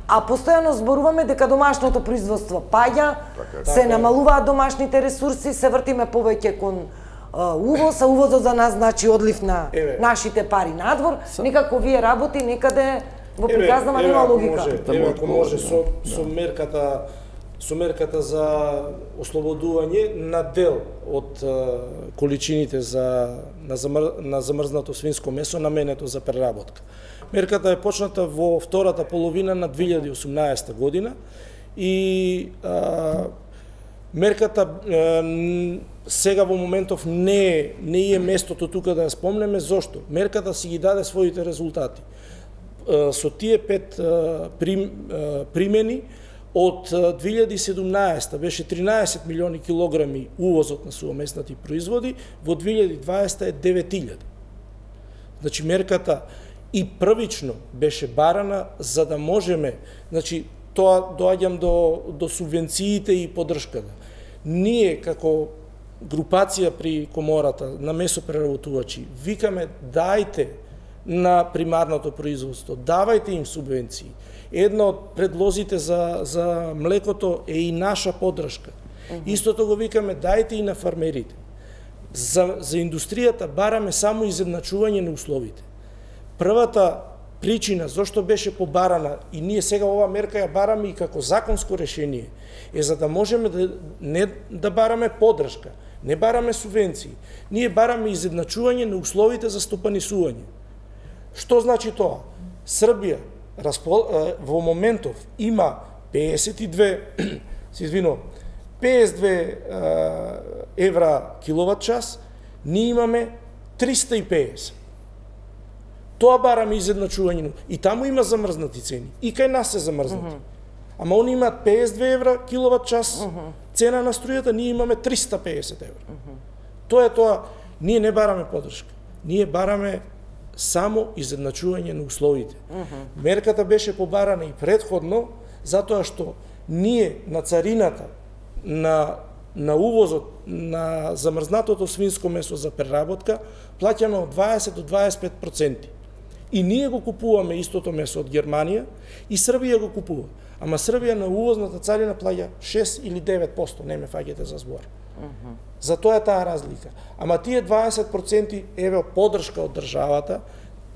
а постојано зборуваме дека домашното производство паѓа, Така се намалуваат домашните ресурси, се вртиме повеќе кон а, увоз, а увозот за нас значи одлив на Еве. нашите пари надвор, некако вие работи некаде во приказнава нема ако логика. може, Да еве му ако може одговори, со со мерката со мерката за ослободување на дел од а, количините за на, замр, на замрзнато свинско месо наменето за преработка. Мерката е почната во втората половина на две илјади и осумнаесета година и а, мерката а, сега во моментов не не е местото тука да ја спомнеме. Зошто? Мерката си ги даде своите резултати. А, со тие пет а, прим, а, примени од две илјади и седумнаесета беше тринаесет милиони килограми увозот на сувомеснати производи, во две илјади и дваесета е девет илјади. Значи мерката и првично беше барана за да можеме, значи тоа доаѓам до до субвенциите и поддршката. Ние како групација при комората на месопреработувачи викаме дајте на примарното производство, давајте им субвенции. Една од предлозите за за млекото е и наша поддршка. Mm -hmm. Истото го викаме дајте и на фармерите. За за индустријата бараме само изедначување на условите. Првата причина зошто беше побарана и ние сега ова мерка ја бараме и како законско решение е за да можеме да не да бараме поддршка, не бараме субвенции. Ние бараме изедначување на условите за стопанисување. Што значи тоа? Србија во моментов има пеесет и две се извинувам, пеесет и две евра киловат час, ние имаме триста и пеесет. Тоа бараме изедначување. И таму има замрзнати цени. И кај нас се замрзнати. Mm -hmm. Ама они имаат пеесет и две евра киловат час, mm -hmm. цена на струјата, ние имаме триста и пеесет евра. Mm -hmm. Тоа е тоа. Ние не бараме поддршка. Ние бараме само изедначување на условите. Mm -hmm. Мерката беше побарана и предходно, затоа што ние на царината, на, на увозот на замрзнатото свинско месо за преработка, плаќаме од дваесет до дваесет и пет проценти. И ние го купуваме истото месо од Германија и Србија го купува. Ама Србија на увозната царина плаќа шест или девет проценти, не ме фаќате за збор. Mm -hmm. Затоа е таа разлика. Ама тие дваесет проценти еве поддршка од државата,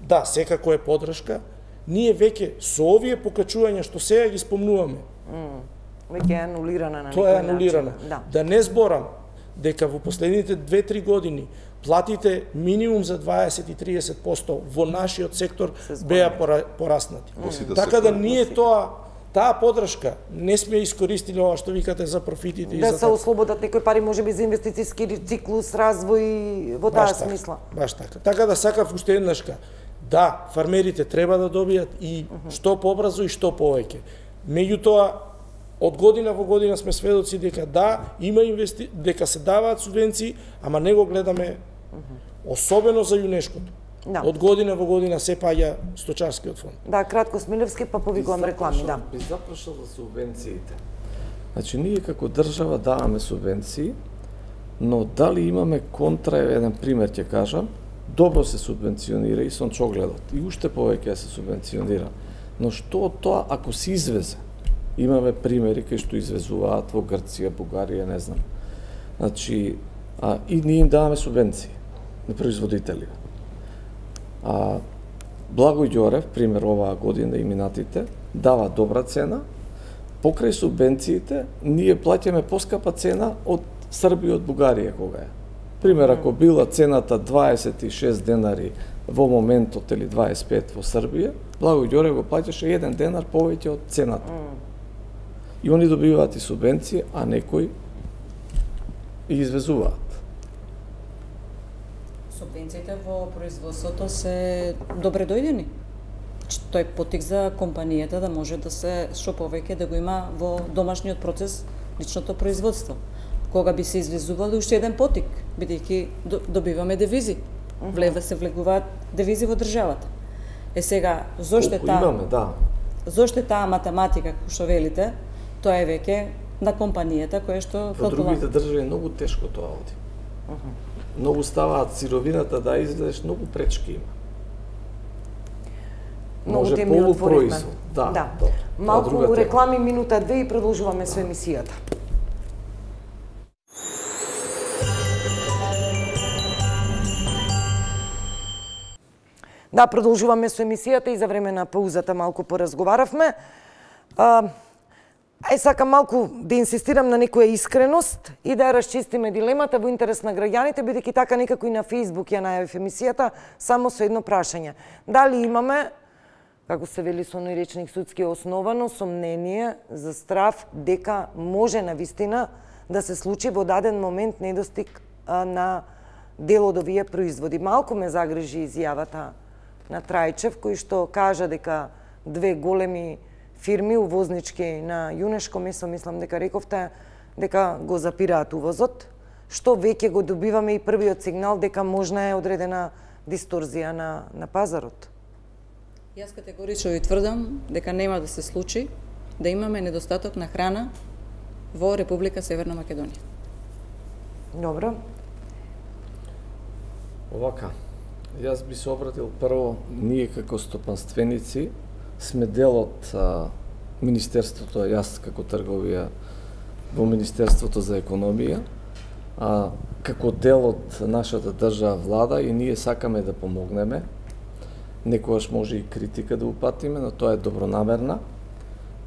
да, секако е поддршка, ние веќе со овие покачувања што сега ги спомнуваме, mm. веќе е анулирана на тоа е анулирана. Да. Да не зборам дека во последните две-три години платите минимум за дваесет и триесет проценти во нашиот сектор беа пораснати. Mm. Така да ние тоа таа поддршка не сме искористили ова што викате за профитите да и за се ослободат некои пари можеби за инвестициски циклус, развој во таа смисла. Баш така. Така да сакав уште еднашка. Да, фармерите треба да добијат и што побрзо и што повеќе. Меѓутоа, од година во година сме сведоци дека да, има инвести... дека се даваат субвенции, ама не го гледаме особено за јунешкото. Да. Од година во година се паѓа сточарскиот фонд. Да, кратко Смилевски, па повикувам реклами, да. Би запрашал за субвенциите. Значи, ние како држава даваме субвенции, но дали имаме контра, еден пример ќе кажам, добро се субвенционира и сончогледот, и уште повеќе се субвенционира. Но што од тоа ако се извезе? Имаме примери кај што извезуваат во Грција, Бугарија, не знам. Значи, а, и ние им даваме субвенции на производители. А, Благој Ѓорев, пример оваа година и минатите, дава добра цена, покрај субвенциите, ние плаќаме поскапа цена од Србија, од Бугарија кога е. Пример, ако била цената дваесет и шест денари во моментот или дваесет и пет во Србија, Благој Ѓорев го плаќаше еден денар повеќе од цената. И они добиваат и субвенции, а некои и извезуваат. Субвенциите во производството се добре дојдени. Тој е потик за компанијата да може да се што повеќе да го има во домашниот процес личното производство. Кога би се извезували уште еден потик, бидејќи добиваме девизи. Влева се влегуваат девизи во државата. Е сега, зошто е таа имаме, да. Зошто е таа математика, како што велите, тоа е веќе на компанијата која што во другите држави е многу тешко тоа оди. Uh -huh. Многу ставаат сировината да излезеш, многу пречки има. Многу теми отворивме. Да, да. да. Малку реклами, минута две и продолжуваме со емисијата. Да, продолжуваме со емисијата и за време на паузата малку поразговаравме. А, ај сакам малку да инсистирам на некоја искреност и да ја расчистиме дилемата во интерес на граѓаните, бидејќи така некако и на Facebook ја најавив емисијата, само со едно прашање. Дали имаме, како се вели со оној речник судски, основано сомнение за страв дека може навистина да се случи во даден момент недостиг а, на дел од овие производи. Малку ме загрижи изјавата на Трајчев, кој што кажа дека две големи фирми увознички на јунешко месо, мислам дека рековте, дека го запираат увозот, што веќе го добиваме и првиот сигнал дека можна е одредена дисторзија на, на пазарот. Јас категорично ви тврдам дека нема да се случи да имаме недостаток на храна во Република Северна Македонија. Добро. Овака, јас би се обратил прво, ние како стопанственици сме дел од а, Министерството, јас како трговија во Министерството за економија, а, како дел од нашата држава влада и ние сакаме да помогнеме. Некогаш може и критика да упатиме, но тоа е добронамерна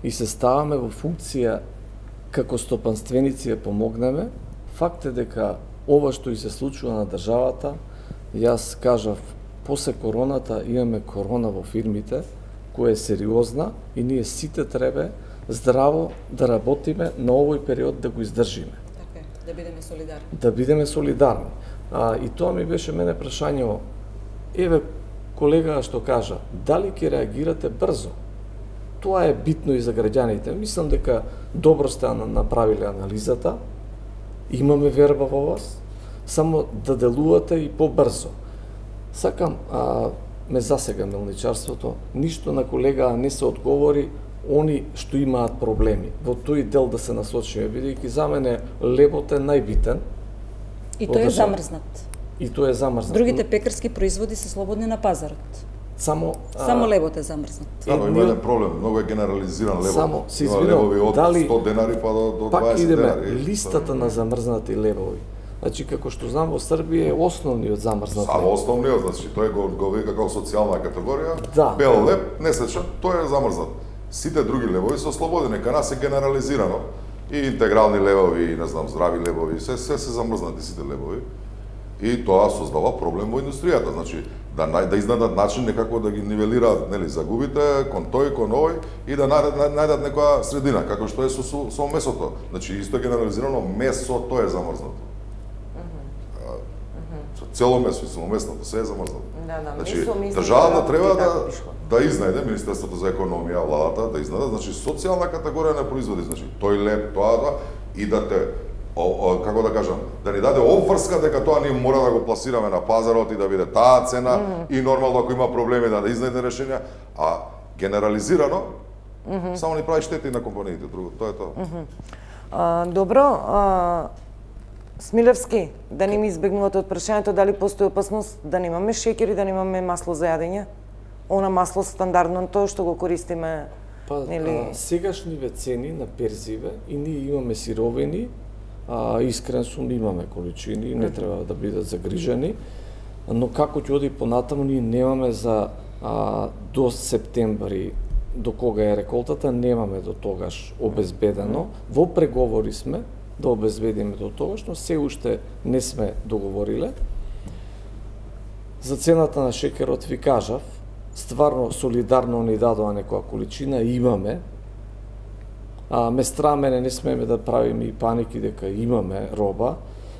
и се ставаме во функција како стопанственици да помогнеме. Факт е дека ова што и се случува на државата, јас кажав, после короната имаме корона во фирмите, која е сериозна и ние сите треба здраво да работиме на овој период да го издржиме. Така е, да бидеме солидарни. Да бидеме солидарни. А, и тоа ми беше мене прашање, еве колега што кажа, дали ќе реагирате брзо? Тоа е битно и за граѓаните. Мислам дека добро сте направиле анализата, имаме верба во вас, само да делувате и побрзо. Сакам, а, ме засега мелничарството, ништо на колега не се одговори они што имаат проблеми. Во тој дел да се насочиме, бидејќи за мене лебот е најбитен. И тој е замрзнат. И тој е замрзнат. Другите пекарски производи се слободни на пазарот. Само само а... лебот е замрзнат. Да, но има еден проблем, многу е генерализиран лебот. Само се има лебови од дали, сто денари па до, до пак дваесет идеме денари. листата на замрзнати лебови. Значи, како што знам, во Србија е основниот замрзнат леб. Само основниот, значи, тој го, го вика како социјална категорија. Да. Бел леб, несечен, тој е замрзнат. Сите други лебови се ослободени, кај нас е генерализирано. И интегрални лебови, и не знам, здрави лебови, се, се се замрзнати сите лебови. И тоа создава проблем во индустријата, значи да да изнадат начин некако да ги нивелираат, нели, загубите кон тој, кон овој и да најдат најдат некоја средина, како што е со со, со месото. Значи исто генерализирано месото е замрзнато. Цело месо и самомесното, се е замрзнато. Да, да, значи, месо, месо, државата треба да, да, да изнајде, Министерството за економија, владата, да изнајде, значи, социјална категорија на производи, значи, тој леб, тоа, тоа, и да те, о, о, како да кажам, да ни даде обврска дека тоа ние мора да го пласираме на пазарот и да биде таа цена, mm -hmm. и нормално ако има проблеми да, да изнајде решенја, а генерализирано, mm -hmm. само ни прави штети на компаниите, друго, тоа е тоа. Mm -hmm. а, добро, а... Смилевски, да не ми избегнувате од прашањето дали постои опасност да немаме шеќер и да немаме масло за јадење? Она масло стандардното што го користиме, па, нели? А, сегашниве цени на перзиве и ние имаме сировини, а искрен сум, имаме количини, не треба да бидат загрижени, но како ќе оди понатаму, ние немаме за а, до септември, до кога е реколтата, немаме до тогаш обезбедено. Во преговори сме да обезбедиме до тогаш, но се уште не сме договориле. За цената на шекерот ви кажав, стварно солидарно ни дадоа некоја количина, имаме. А, ме мене не смеме да правиме и паники дека имаме роба,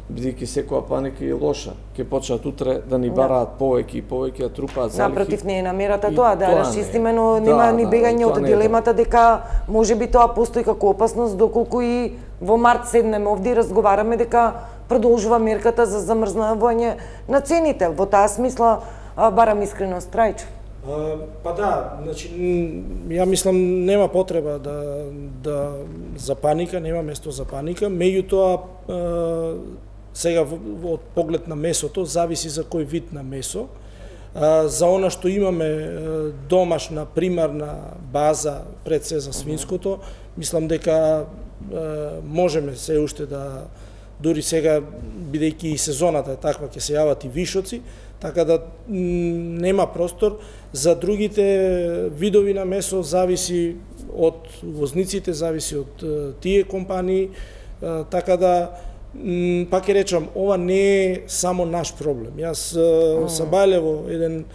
бидејќи секоја паника е лоша. Ќе почнат утре да ни бараат повеќе и повеќе, да трупаат залихи. Напротив, не е намерата тоа, да расчистиме, но нема да, ни бегање да, од дилемата дека можеби тоа постои како опасност, доколку и во март седнеме овде и разговараме дека продолжува мерката за замрзнавање на цените. Во таа смисла барам искреност, Трајчев. Па да, значи ја мислам нема потреба да да за паника, нема место за паника, меѓутоа сега од поглед на месото зависи за кој вид на месо. За она што имаме домашна примарна база пред се за свинското, мислам дека можеме се уште да дури сега бидејќи и сезоната е таква ќе се јават и вишоци, така да нема простор. За другите видови на месо зависи од возниците, зависи од тие компании, така да пак ќе речам, ова не е само наш проблем. Јас mm. сабајле во еден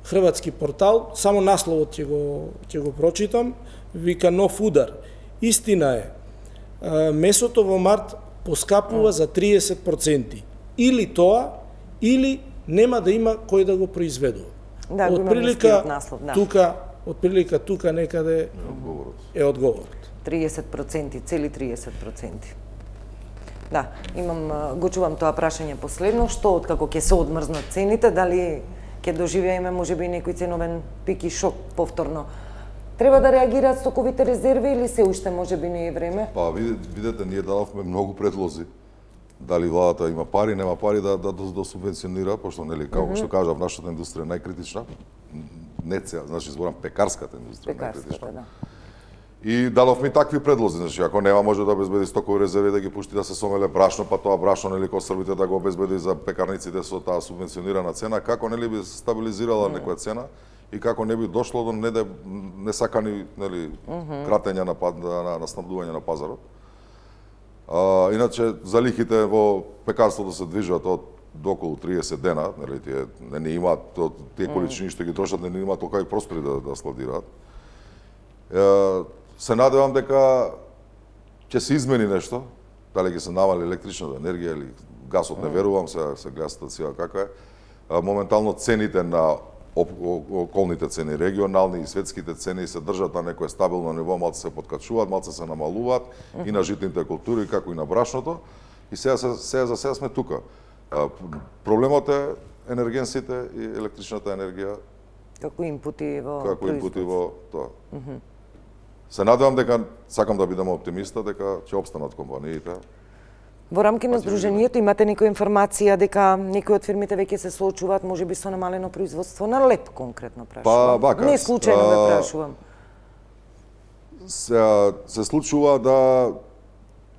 хрватски портал, само насловот ќе го ќе го прочитам, вика нов удар. Истина е, месото во март поскапува mm. за триесет проценти. Или тоа, или нема да има кој да го произведува. Да, од прилика наслов, да. тука, од прилика тука некаде е одговорот. триесет проценти, цели триесет проценти. Да, имам, го чувам тоа прашање последно, што откако ќе се одмрзнат цените, дали ќе доживееме можеби некој ценовен пик и шок повторно. Треба да реагираат стоковите резерви или се уште можеби не е време? Па видете, ние дадовме многу предлози. Дали владата има пари, нема пари да да, да субвенционира, пошто нели како mm -hmm. што кажав, нашата индустрија е најкритична. Не цела, значи зборам пекарската индустрија најкритична. Да. И дадовме и такви предлози, значи ако нема може да обезбеди стокови резерви да ги пушти да се сомеле брашно, па тоа брашно нели ко србите да го обезбеди за пекарниците со таа субвенционирана цена, како нели би стабилизирала mm -hmm. некоја цена и како не би дошло до не несакани нели mm -hmm. кратења на, на на снабдување на пазарот. А, иначе за лихите во пекарството се движат од до околу триесет дена, нели тие не, не имаат тие количини што ги трошат, не, не имаат толку и простори да да складираат. Е, се надевам дека ќе се измени нешто, дали ќе се намали електричната енергија или гасот, не верувам, се се гледа ситуација каква е. А, моментално цените на околните цени, регионални и светските цени се држат на некое стабилно ниво, малце се подкачуваат, малце се намалуваат uh -huh. и на житните култури, како и на брашното. И сега, сега за сега сме тука. А, проблемот е енергенсите и електричната енергија како инпути во како инпути во тоа. Uh -huh. Се надевам дека, сакам да бидам оптимиста, дека ќе опстанат компаниите. Во рамки на Сдруженијето имате некоја информација дека некои од фирмите веќе се соочуваат можеби со намалено производство на леп, конкретно прашувам. Па, вака, не случајно ве прашувам. Се, се случува да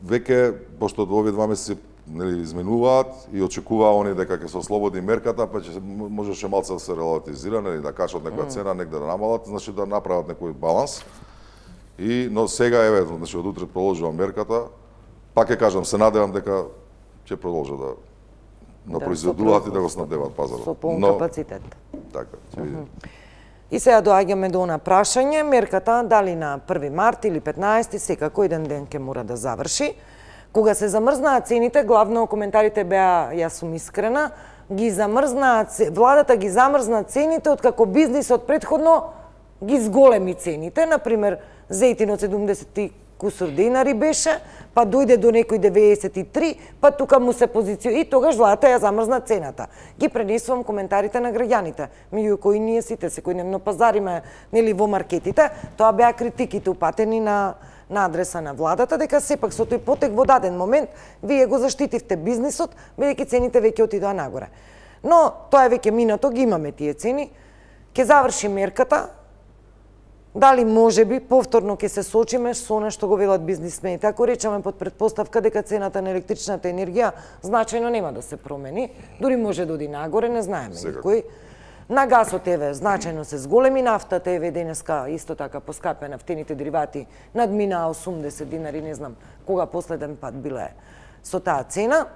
веќе, пошто овие два месеци нели изменуваат и очекуваа они дека ќе се ослободи мерката, па ќе можеше малце да се релатизира, нели да качат некоја цена, негде да намалат, значи да направат некој баланс. И но сега еве, значи од утре продолжува мерката. Пак ќе кажам, се надевам дека ќе продолжат да да, да произведуваат и да го снабдеваат пазарот. Со полн капацитет. Така, ќе видиме. И сега доаѓаме до она прашање, мерката дали на први март или петнаесети, секако еден ден ќе мора да заврши. Кога се замрзнаа цените, главно коментарите беа, јас сум искрена, ги замрзнаа, владата ги замрзна цените откако бизнисот претходно ги зголеми цените, например, зејтинот седумдесет и кусур динари беше, па дојде до некој деветдесет и три, па тука му се позицион и тогаш владата ја замрзна цената. Ги пренесувам коментарите на граѓаните, меѓу кои ние сите секојдневно пазариме нели во маркетите, тоа беа критиките упатени на на адреса на владата дека сепак со тој потек во даден момент вие го заштитивте бизнисот бидејќи цените веќе отидоа нагоре. Но тоа е веќе минато, ги имаме тие цени. Ќе заврши мерката. Дали можеби повторно ќе се сочиме со она што го велат бизнисмените. Ако речеме под претпоставка дека цената на електричната енергија значајно нема да се промени, дури може да оди нагоре, не знаеме никој. На гасот еве значајно се зголеми, нафтата еве денеска исто така поскапе, нафтените деривати надминаа осумдесет динари, не знам кога последен пат биле со таа цена.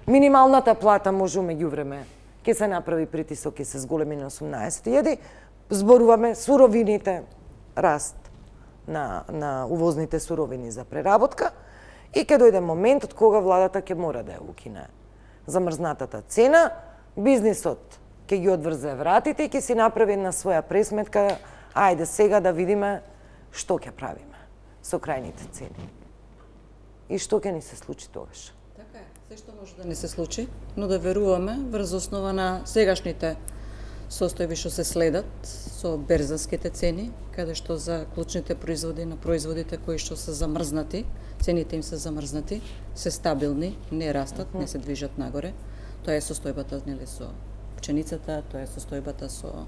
Минималната плата може меѓувреме ќе се направи притисок и се зголеми на осумнаесет илјади. Зборуваме суровините, раст на, на увозните суровини за преработка и ќе дојде моментот кога владата ќе мора да ја укине замрзнатата цена, бизнисот ќе ги одврзе вратите и ќе си направи на своја пресметка, ајде сега да видиме што ќе правиме со крајните цени. И што ќе ни се случи тогаш? Така е, се што може да не се случи, но да веруваме врз основа на сегашните состојби што се следат со берзанските цени, каде што за клучните производи на производите кои што се замрзнати, цените им се замрзнати, се стабилни, не растат, не се движат нагоре. Тоа е состојбата нели со пченицата, тоа е состојбата со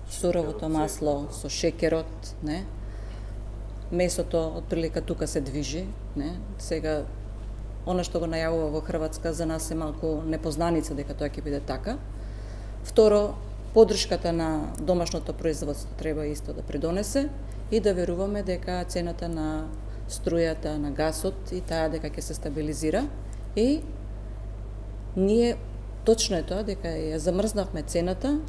суровото масло, со шекерот, не? Месото отприлика тука се движи, не? Сега она што го најавува во Хрватска за нас е малку непознаница дека тоа ќе биде така. Второ, поддршката на домашното производство треба исто да придонесе и да веруваме дека цената на струјата, на гасот и таа дека ќе се стабилизира и ние точно е тоа дека ја замрзнавме цената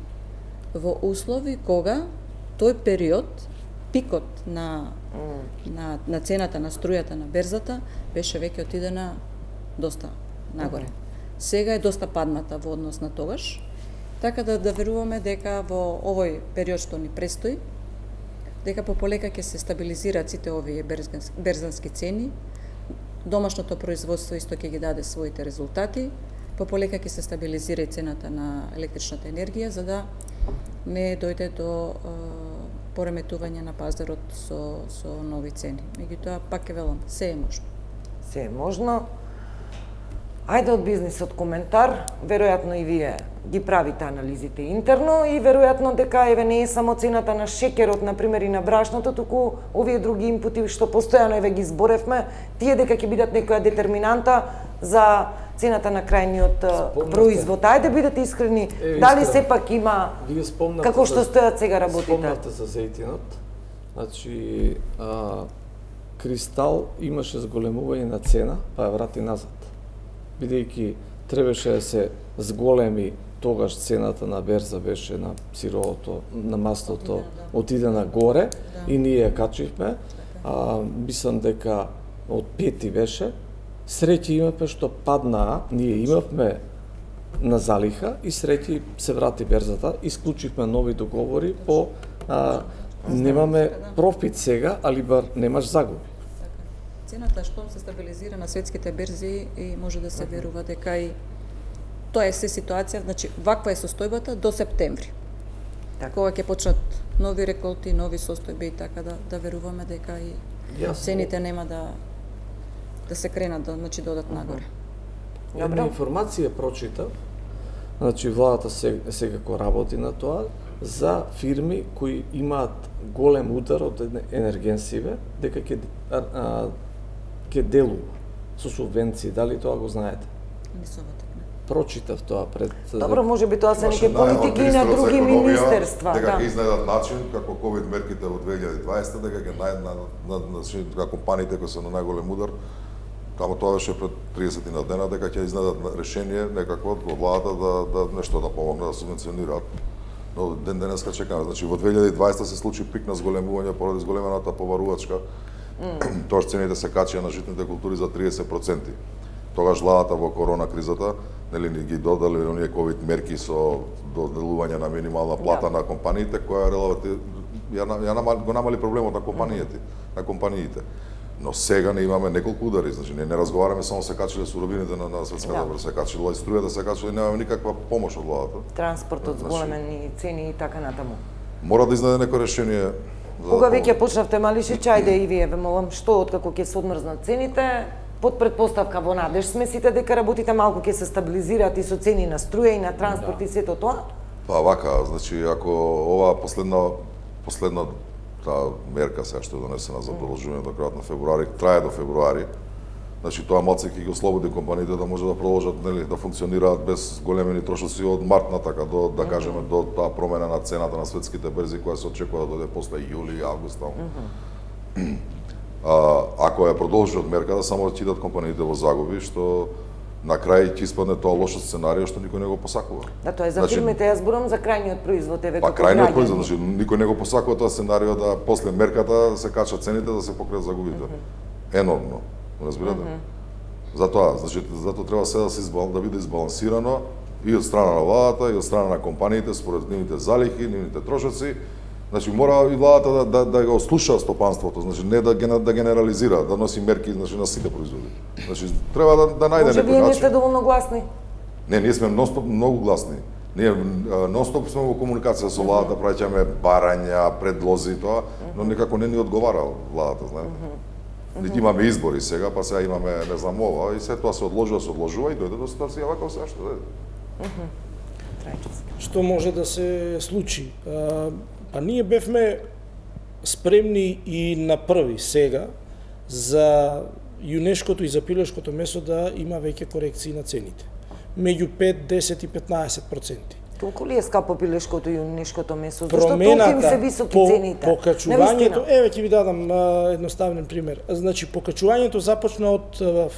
во услови кога тој период пикот на на на цената на струјата на берзата беше веќе отидена доста нагоре. Сега е доста падната во однос на тогаш. Така да да веруваме дека во овој период што ни престои, дека пополека ќе се стабилизираат сите овие берзански, берзански цени, домашното производство исто ќе ги даде своите резултати, пополека ќе се стабилизира и цената на електричната енергија, за да не дојде до е, пореметување на пазарот со, со нови цени. Меѓутоа, пак е велам, се е можно. Се е можно. Ајде од бизнисот коментар, веројатно и вие ги правите анализите интерно и веројатно дека еве не е само цената на шекерот, например, и на брашното, туку овие други импути што постојано еве ги зборевме, тие дека ќе бидат некоја детерминанта за цената на крајниот Спомнате. производ. Ајде бидете искрени, е, дали сепак има како што стојат сега работите? Спомнате за зејтинот. Значи, а, Кристал имаше зголемување на цена, па ја врати назад. Бидејќи требаше да се зголеми, тогаш цената на берза беше на сировото, на маслото, отиде на горе да. И ние ја качивме. А, мислам дека од пети беше. Среќи имавме што паднаа, ние имавме на залиха и среќи се врати берзата, исклучивме нови договори по а, немаме профит сега, али бар немаш загуби. Цената што се стабилизира на светските берзи и може да се верува дека и тоа е се ситуација, значи ваква е состојбата до септември. Така. Кога ќе почнат нови реколти, нови состојби и така да да веруваме дека и Јасно. Цените нема да да се кренат, да, значи да одат нагоре. Една информација прочитав, значи владата секако работи на тоа, за фирми кои имаат голем удар од енергенсиве, дека ќе ќе делува со субвенции. Дали тоа го знаете? Не сум така. Прочитав тоа пред... Добро, може би тоа се неки политики на други министерства. Дека ќе изнајдат начин, како ковид мерките во две илјади и дваесета, дека ќе најдат компаниите кои се на најголем удар, Тамо тоа беше пред триесет на дена, дека ќе изнајдат решение некакво од владата да, да нешто да помогне, да субвенционираат. Но ден денеска чекаме. Значи во две илјади и дваесета се случи пик на зголемување поради зголемената поварувачка. Mm. Тоа цените се качија на житните култури за триесет проценти. Тогаш владата во корона кризата нели ни ги додали оние ковид мерки со доделување на минимална плата yeah. на компаниите, која релативно ја, ја го намали проблемот на компаниите, mm. на компаниите. Но сега не имаме неколку удари, значи не, не разговараме само се качиле суровините на, на светската да. се качила и струјата се качила и немаме никаква помош од владата. Транспортот, значи, зголемени цени и така натаму. Мора да изнајде некој решение. Кога веќе почнавте Малишич, ајде и вие ве молам, што откако ќе се одмрзнат цените, под предпоставка во надеж сме сите дека работите малку ќе се стабилизираат и со цени на струја и на транспорт да. и сето тоа? Па вака, значи ако ова последна последна таа мерка сега што е донесена за продолжување до крајот на февруари, трае до февруари. Значи тоа малце ќе ги ослободи компаниите да може да продолжат, нели, да функционираат без големени трошоци од март натака до да кажеме до таа промена на цената на светските берзи која се очекува да дојде после јули и август таму. Mm -hmm. а, ако ја продолжат мерката, само ќе идат компаниите во загуби, што на крај ќе испадне тоа лошо сценарио што никој не го посакува. Да, тоа е за значи, фирмите, јас зборам за крајниот производ, еве па, крајниот производ, значи никој не го посакува тоа сценарио да после мерката се качат цените да се покријат загубите. Mm -hmm. Енормно, разбирате? Mm -hmm. Затоа, значи затоа треба се да се избал, да биде избалансирано и од страна на владата и од страна на компаниите според нивните залихи, нивните трошоци. Значи мора и владата да да, да го слуша стопанството, значи не да ген, да генерализира, да носи мерки значи на сите производи. Значи треба да да најде некој начин. Може вие не сте доволно гласни? Не, ние сме многу, многу гласни. Ние нонстоп сме во комуникација со владата, праќаме барања, предлози тоа, но некако не ни одговара владата, знаете. Нити имаме избори сега, па сега имаме не знам ова и се тоа се одложува, се одложува и дојде до ситуација вака се што дојде. Што може да се случи? Па ние бевме спремни и на први сега за јунешкото и за пилешкото месо да има веќе корекции на цените. Меѓу пет, десет и петнаесет проценти. Толку ли е скапо пилешкото и јунешкото месо? Зашто толку им се високи по, цените? Покачувањето, еве ќе ви дадам а, едноставен пример. Значи покачувањето започна од а,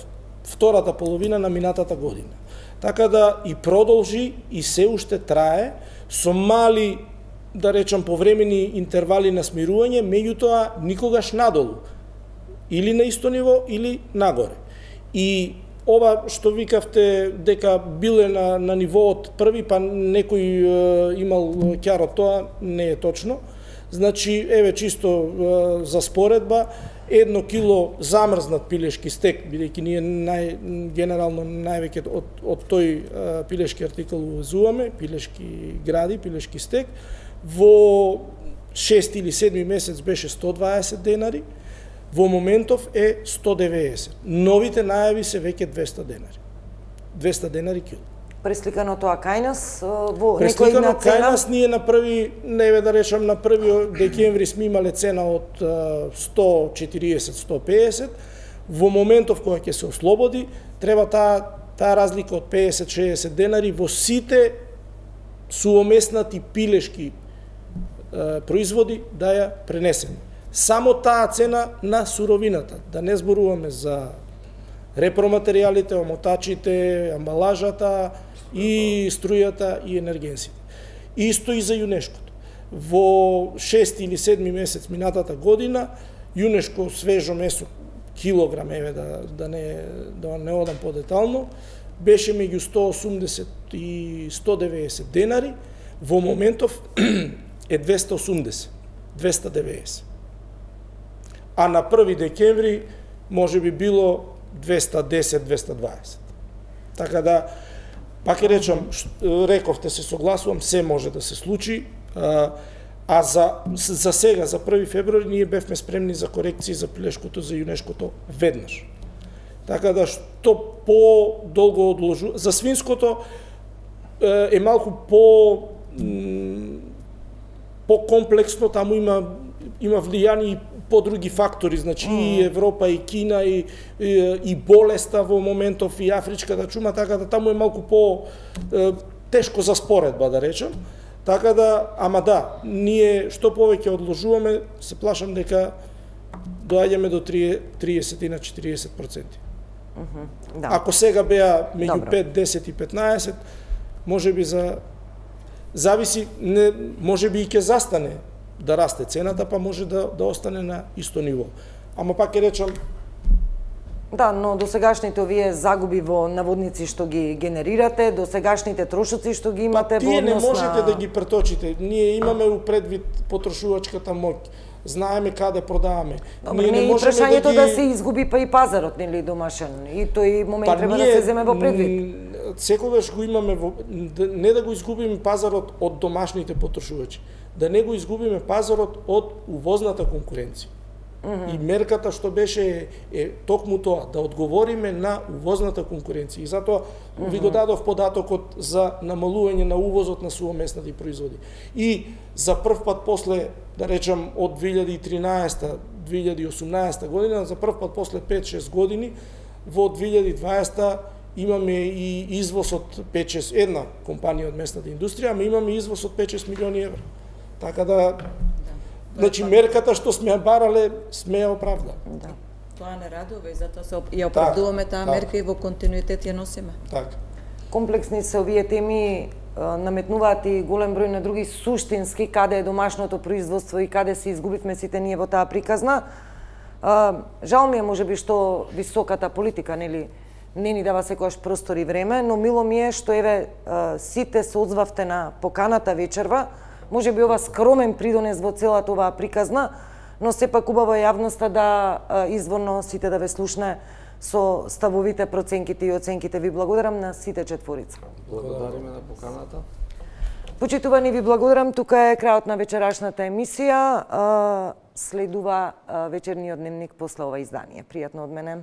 втората половина на минатата година. Така да и продолжи и се уште трае со мали, да речам, повремени интервали на смирување, меѓутоа никогаш надолу. Или на исто ниво, или нагоре. И ова што викавте дека биле на, на ниво од први, па некој е, имал ќар од тоа, не е точно. Значи, еве чисто е, за споредба, едно кило замрзнат пилешки стек, бидејќи ние нај, генерално највеќе од, од тој е, пилешки артикул увезуваме, пилешки гради, пилешки стек, во шести или седми месец беше сто дваесет денари, во моментов е сто деведесет. Новите најави се веќе двесте денари. двесте денари кило. Пресликано тоа кај нас во Пресликано кај нас ние на први, неве да речам, на први декември сме имале цена од сто четириесет до сто педесет. Во моментов кога ќе се ослободи, треба таа таа разлика од педесет до шеесет денари во сите суомеснати пилешки е, производи да ја пренесеме. Само таа цена на суровината, да не зборуваме за репроматеријалите, омотачите, амбалажата и струјата и енергенсите. Исто и за јунешкото. Во шести или седми месец минатата година, јунешко свежо месо, килограм, еве да, да, не, да не одам подетално, беше меѓу сто осумдесет и сто деведесет денари, во моментов е двесте осумдесет, двесте деведесет. А на први декември може би било двесте десет, двесте дваесет. Така да, пак ќе речам, рековте, се согласувам, се може да се случи, а, а за, за сега, за први февруари, ние бевме спремни за корекции за пилешкото, за јунешкото веднаш. Така да, што по-долго одложу... За свинското е малку по... по-комплексно, таму има има влијани и по други фактори, значи mm. и Европа, и Кина, и, и, и болеста во моментов, и афричката чума, така да таму е малку по е, тешко за споредба, да речем. Така да, ама да, ние што повеќе одложуваме, се плашам дека доаѓаме до триесет на четириесет проценти. Mm -hmm. Да. Ако сега беа меѓу пет, десет и петнаесет, може би за зависи, не, може би и ќе застане да расте цената, па може да, да остане на исто ниво. Ама пак ќе речам... Да, но до сегашните овие загуби во наводници што ги генерирате, до сегашните трошоци што ги имате па, во однос на... Тие не можете да ги преточите. Ние имаме у предвид потрошувачката моќ. Знаеме каде продаваме. Добре, ние не, не можеме прашањето да, ги... да се изгуби па и пазарот, нели, домашен. И тој момент па треба ние, да се земе во предвид. Секогаш го имаме во... не да го изгубиме пазарот од домашните потрошувачи, да не го изгубиме пазарот од увозната конкуренција. Mm -hmm. И мерката што беше е токму тоа, да одговориме на увозната конкуренција. И затоа mm -hmm. ви го дадов податокот за намалување на увозот на суомеснати производи. И за прв пат после, да речам, од две илјади и тринаесета до две илјади и осумнаесета година, за прв пат после пет-шест години, во две илјади и дваесета имаме и извоз од пет-шест, една компанија од местната индустрија, ама имаме извоз од пет-шест милиони евра. Така да, значи мерката што сме ја барале, сме ја оправдали. Да. Тоа не радува и затоа се ја оправдуваме таа мерка и во континуитет ја носиме. Така. Комплексни се овие теми, наметнуваат и голем број на други суштински, каде е домашното производство и каде се изгубивме сите ние во таа приказна. Жал ми е можеби што високата политика, нели, не ни дава секојаш простор и време, но мило ми е што еве сите се одзвавте на поканата вечерва. Може би ова скромен придонес во целата оваа приказна, но сепак убаво е јавноста да изворно сите да ве слушне со ставовите, проценките и оценките. Ви благодарам на сите четворица. Благодариме на поканата. Почитувани, ви благодарам. Тука е крајот на вечерашната емисија. Следува вечерниот дневник после ова издание. Пријатно од мене.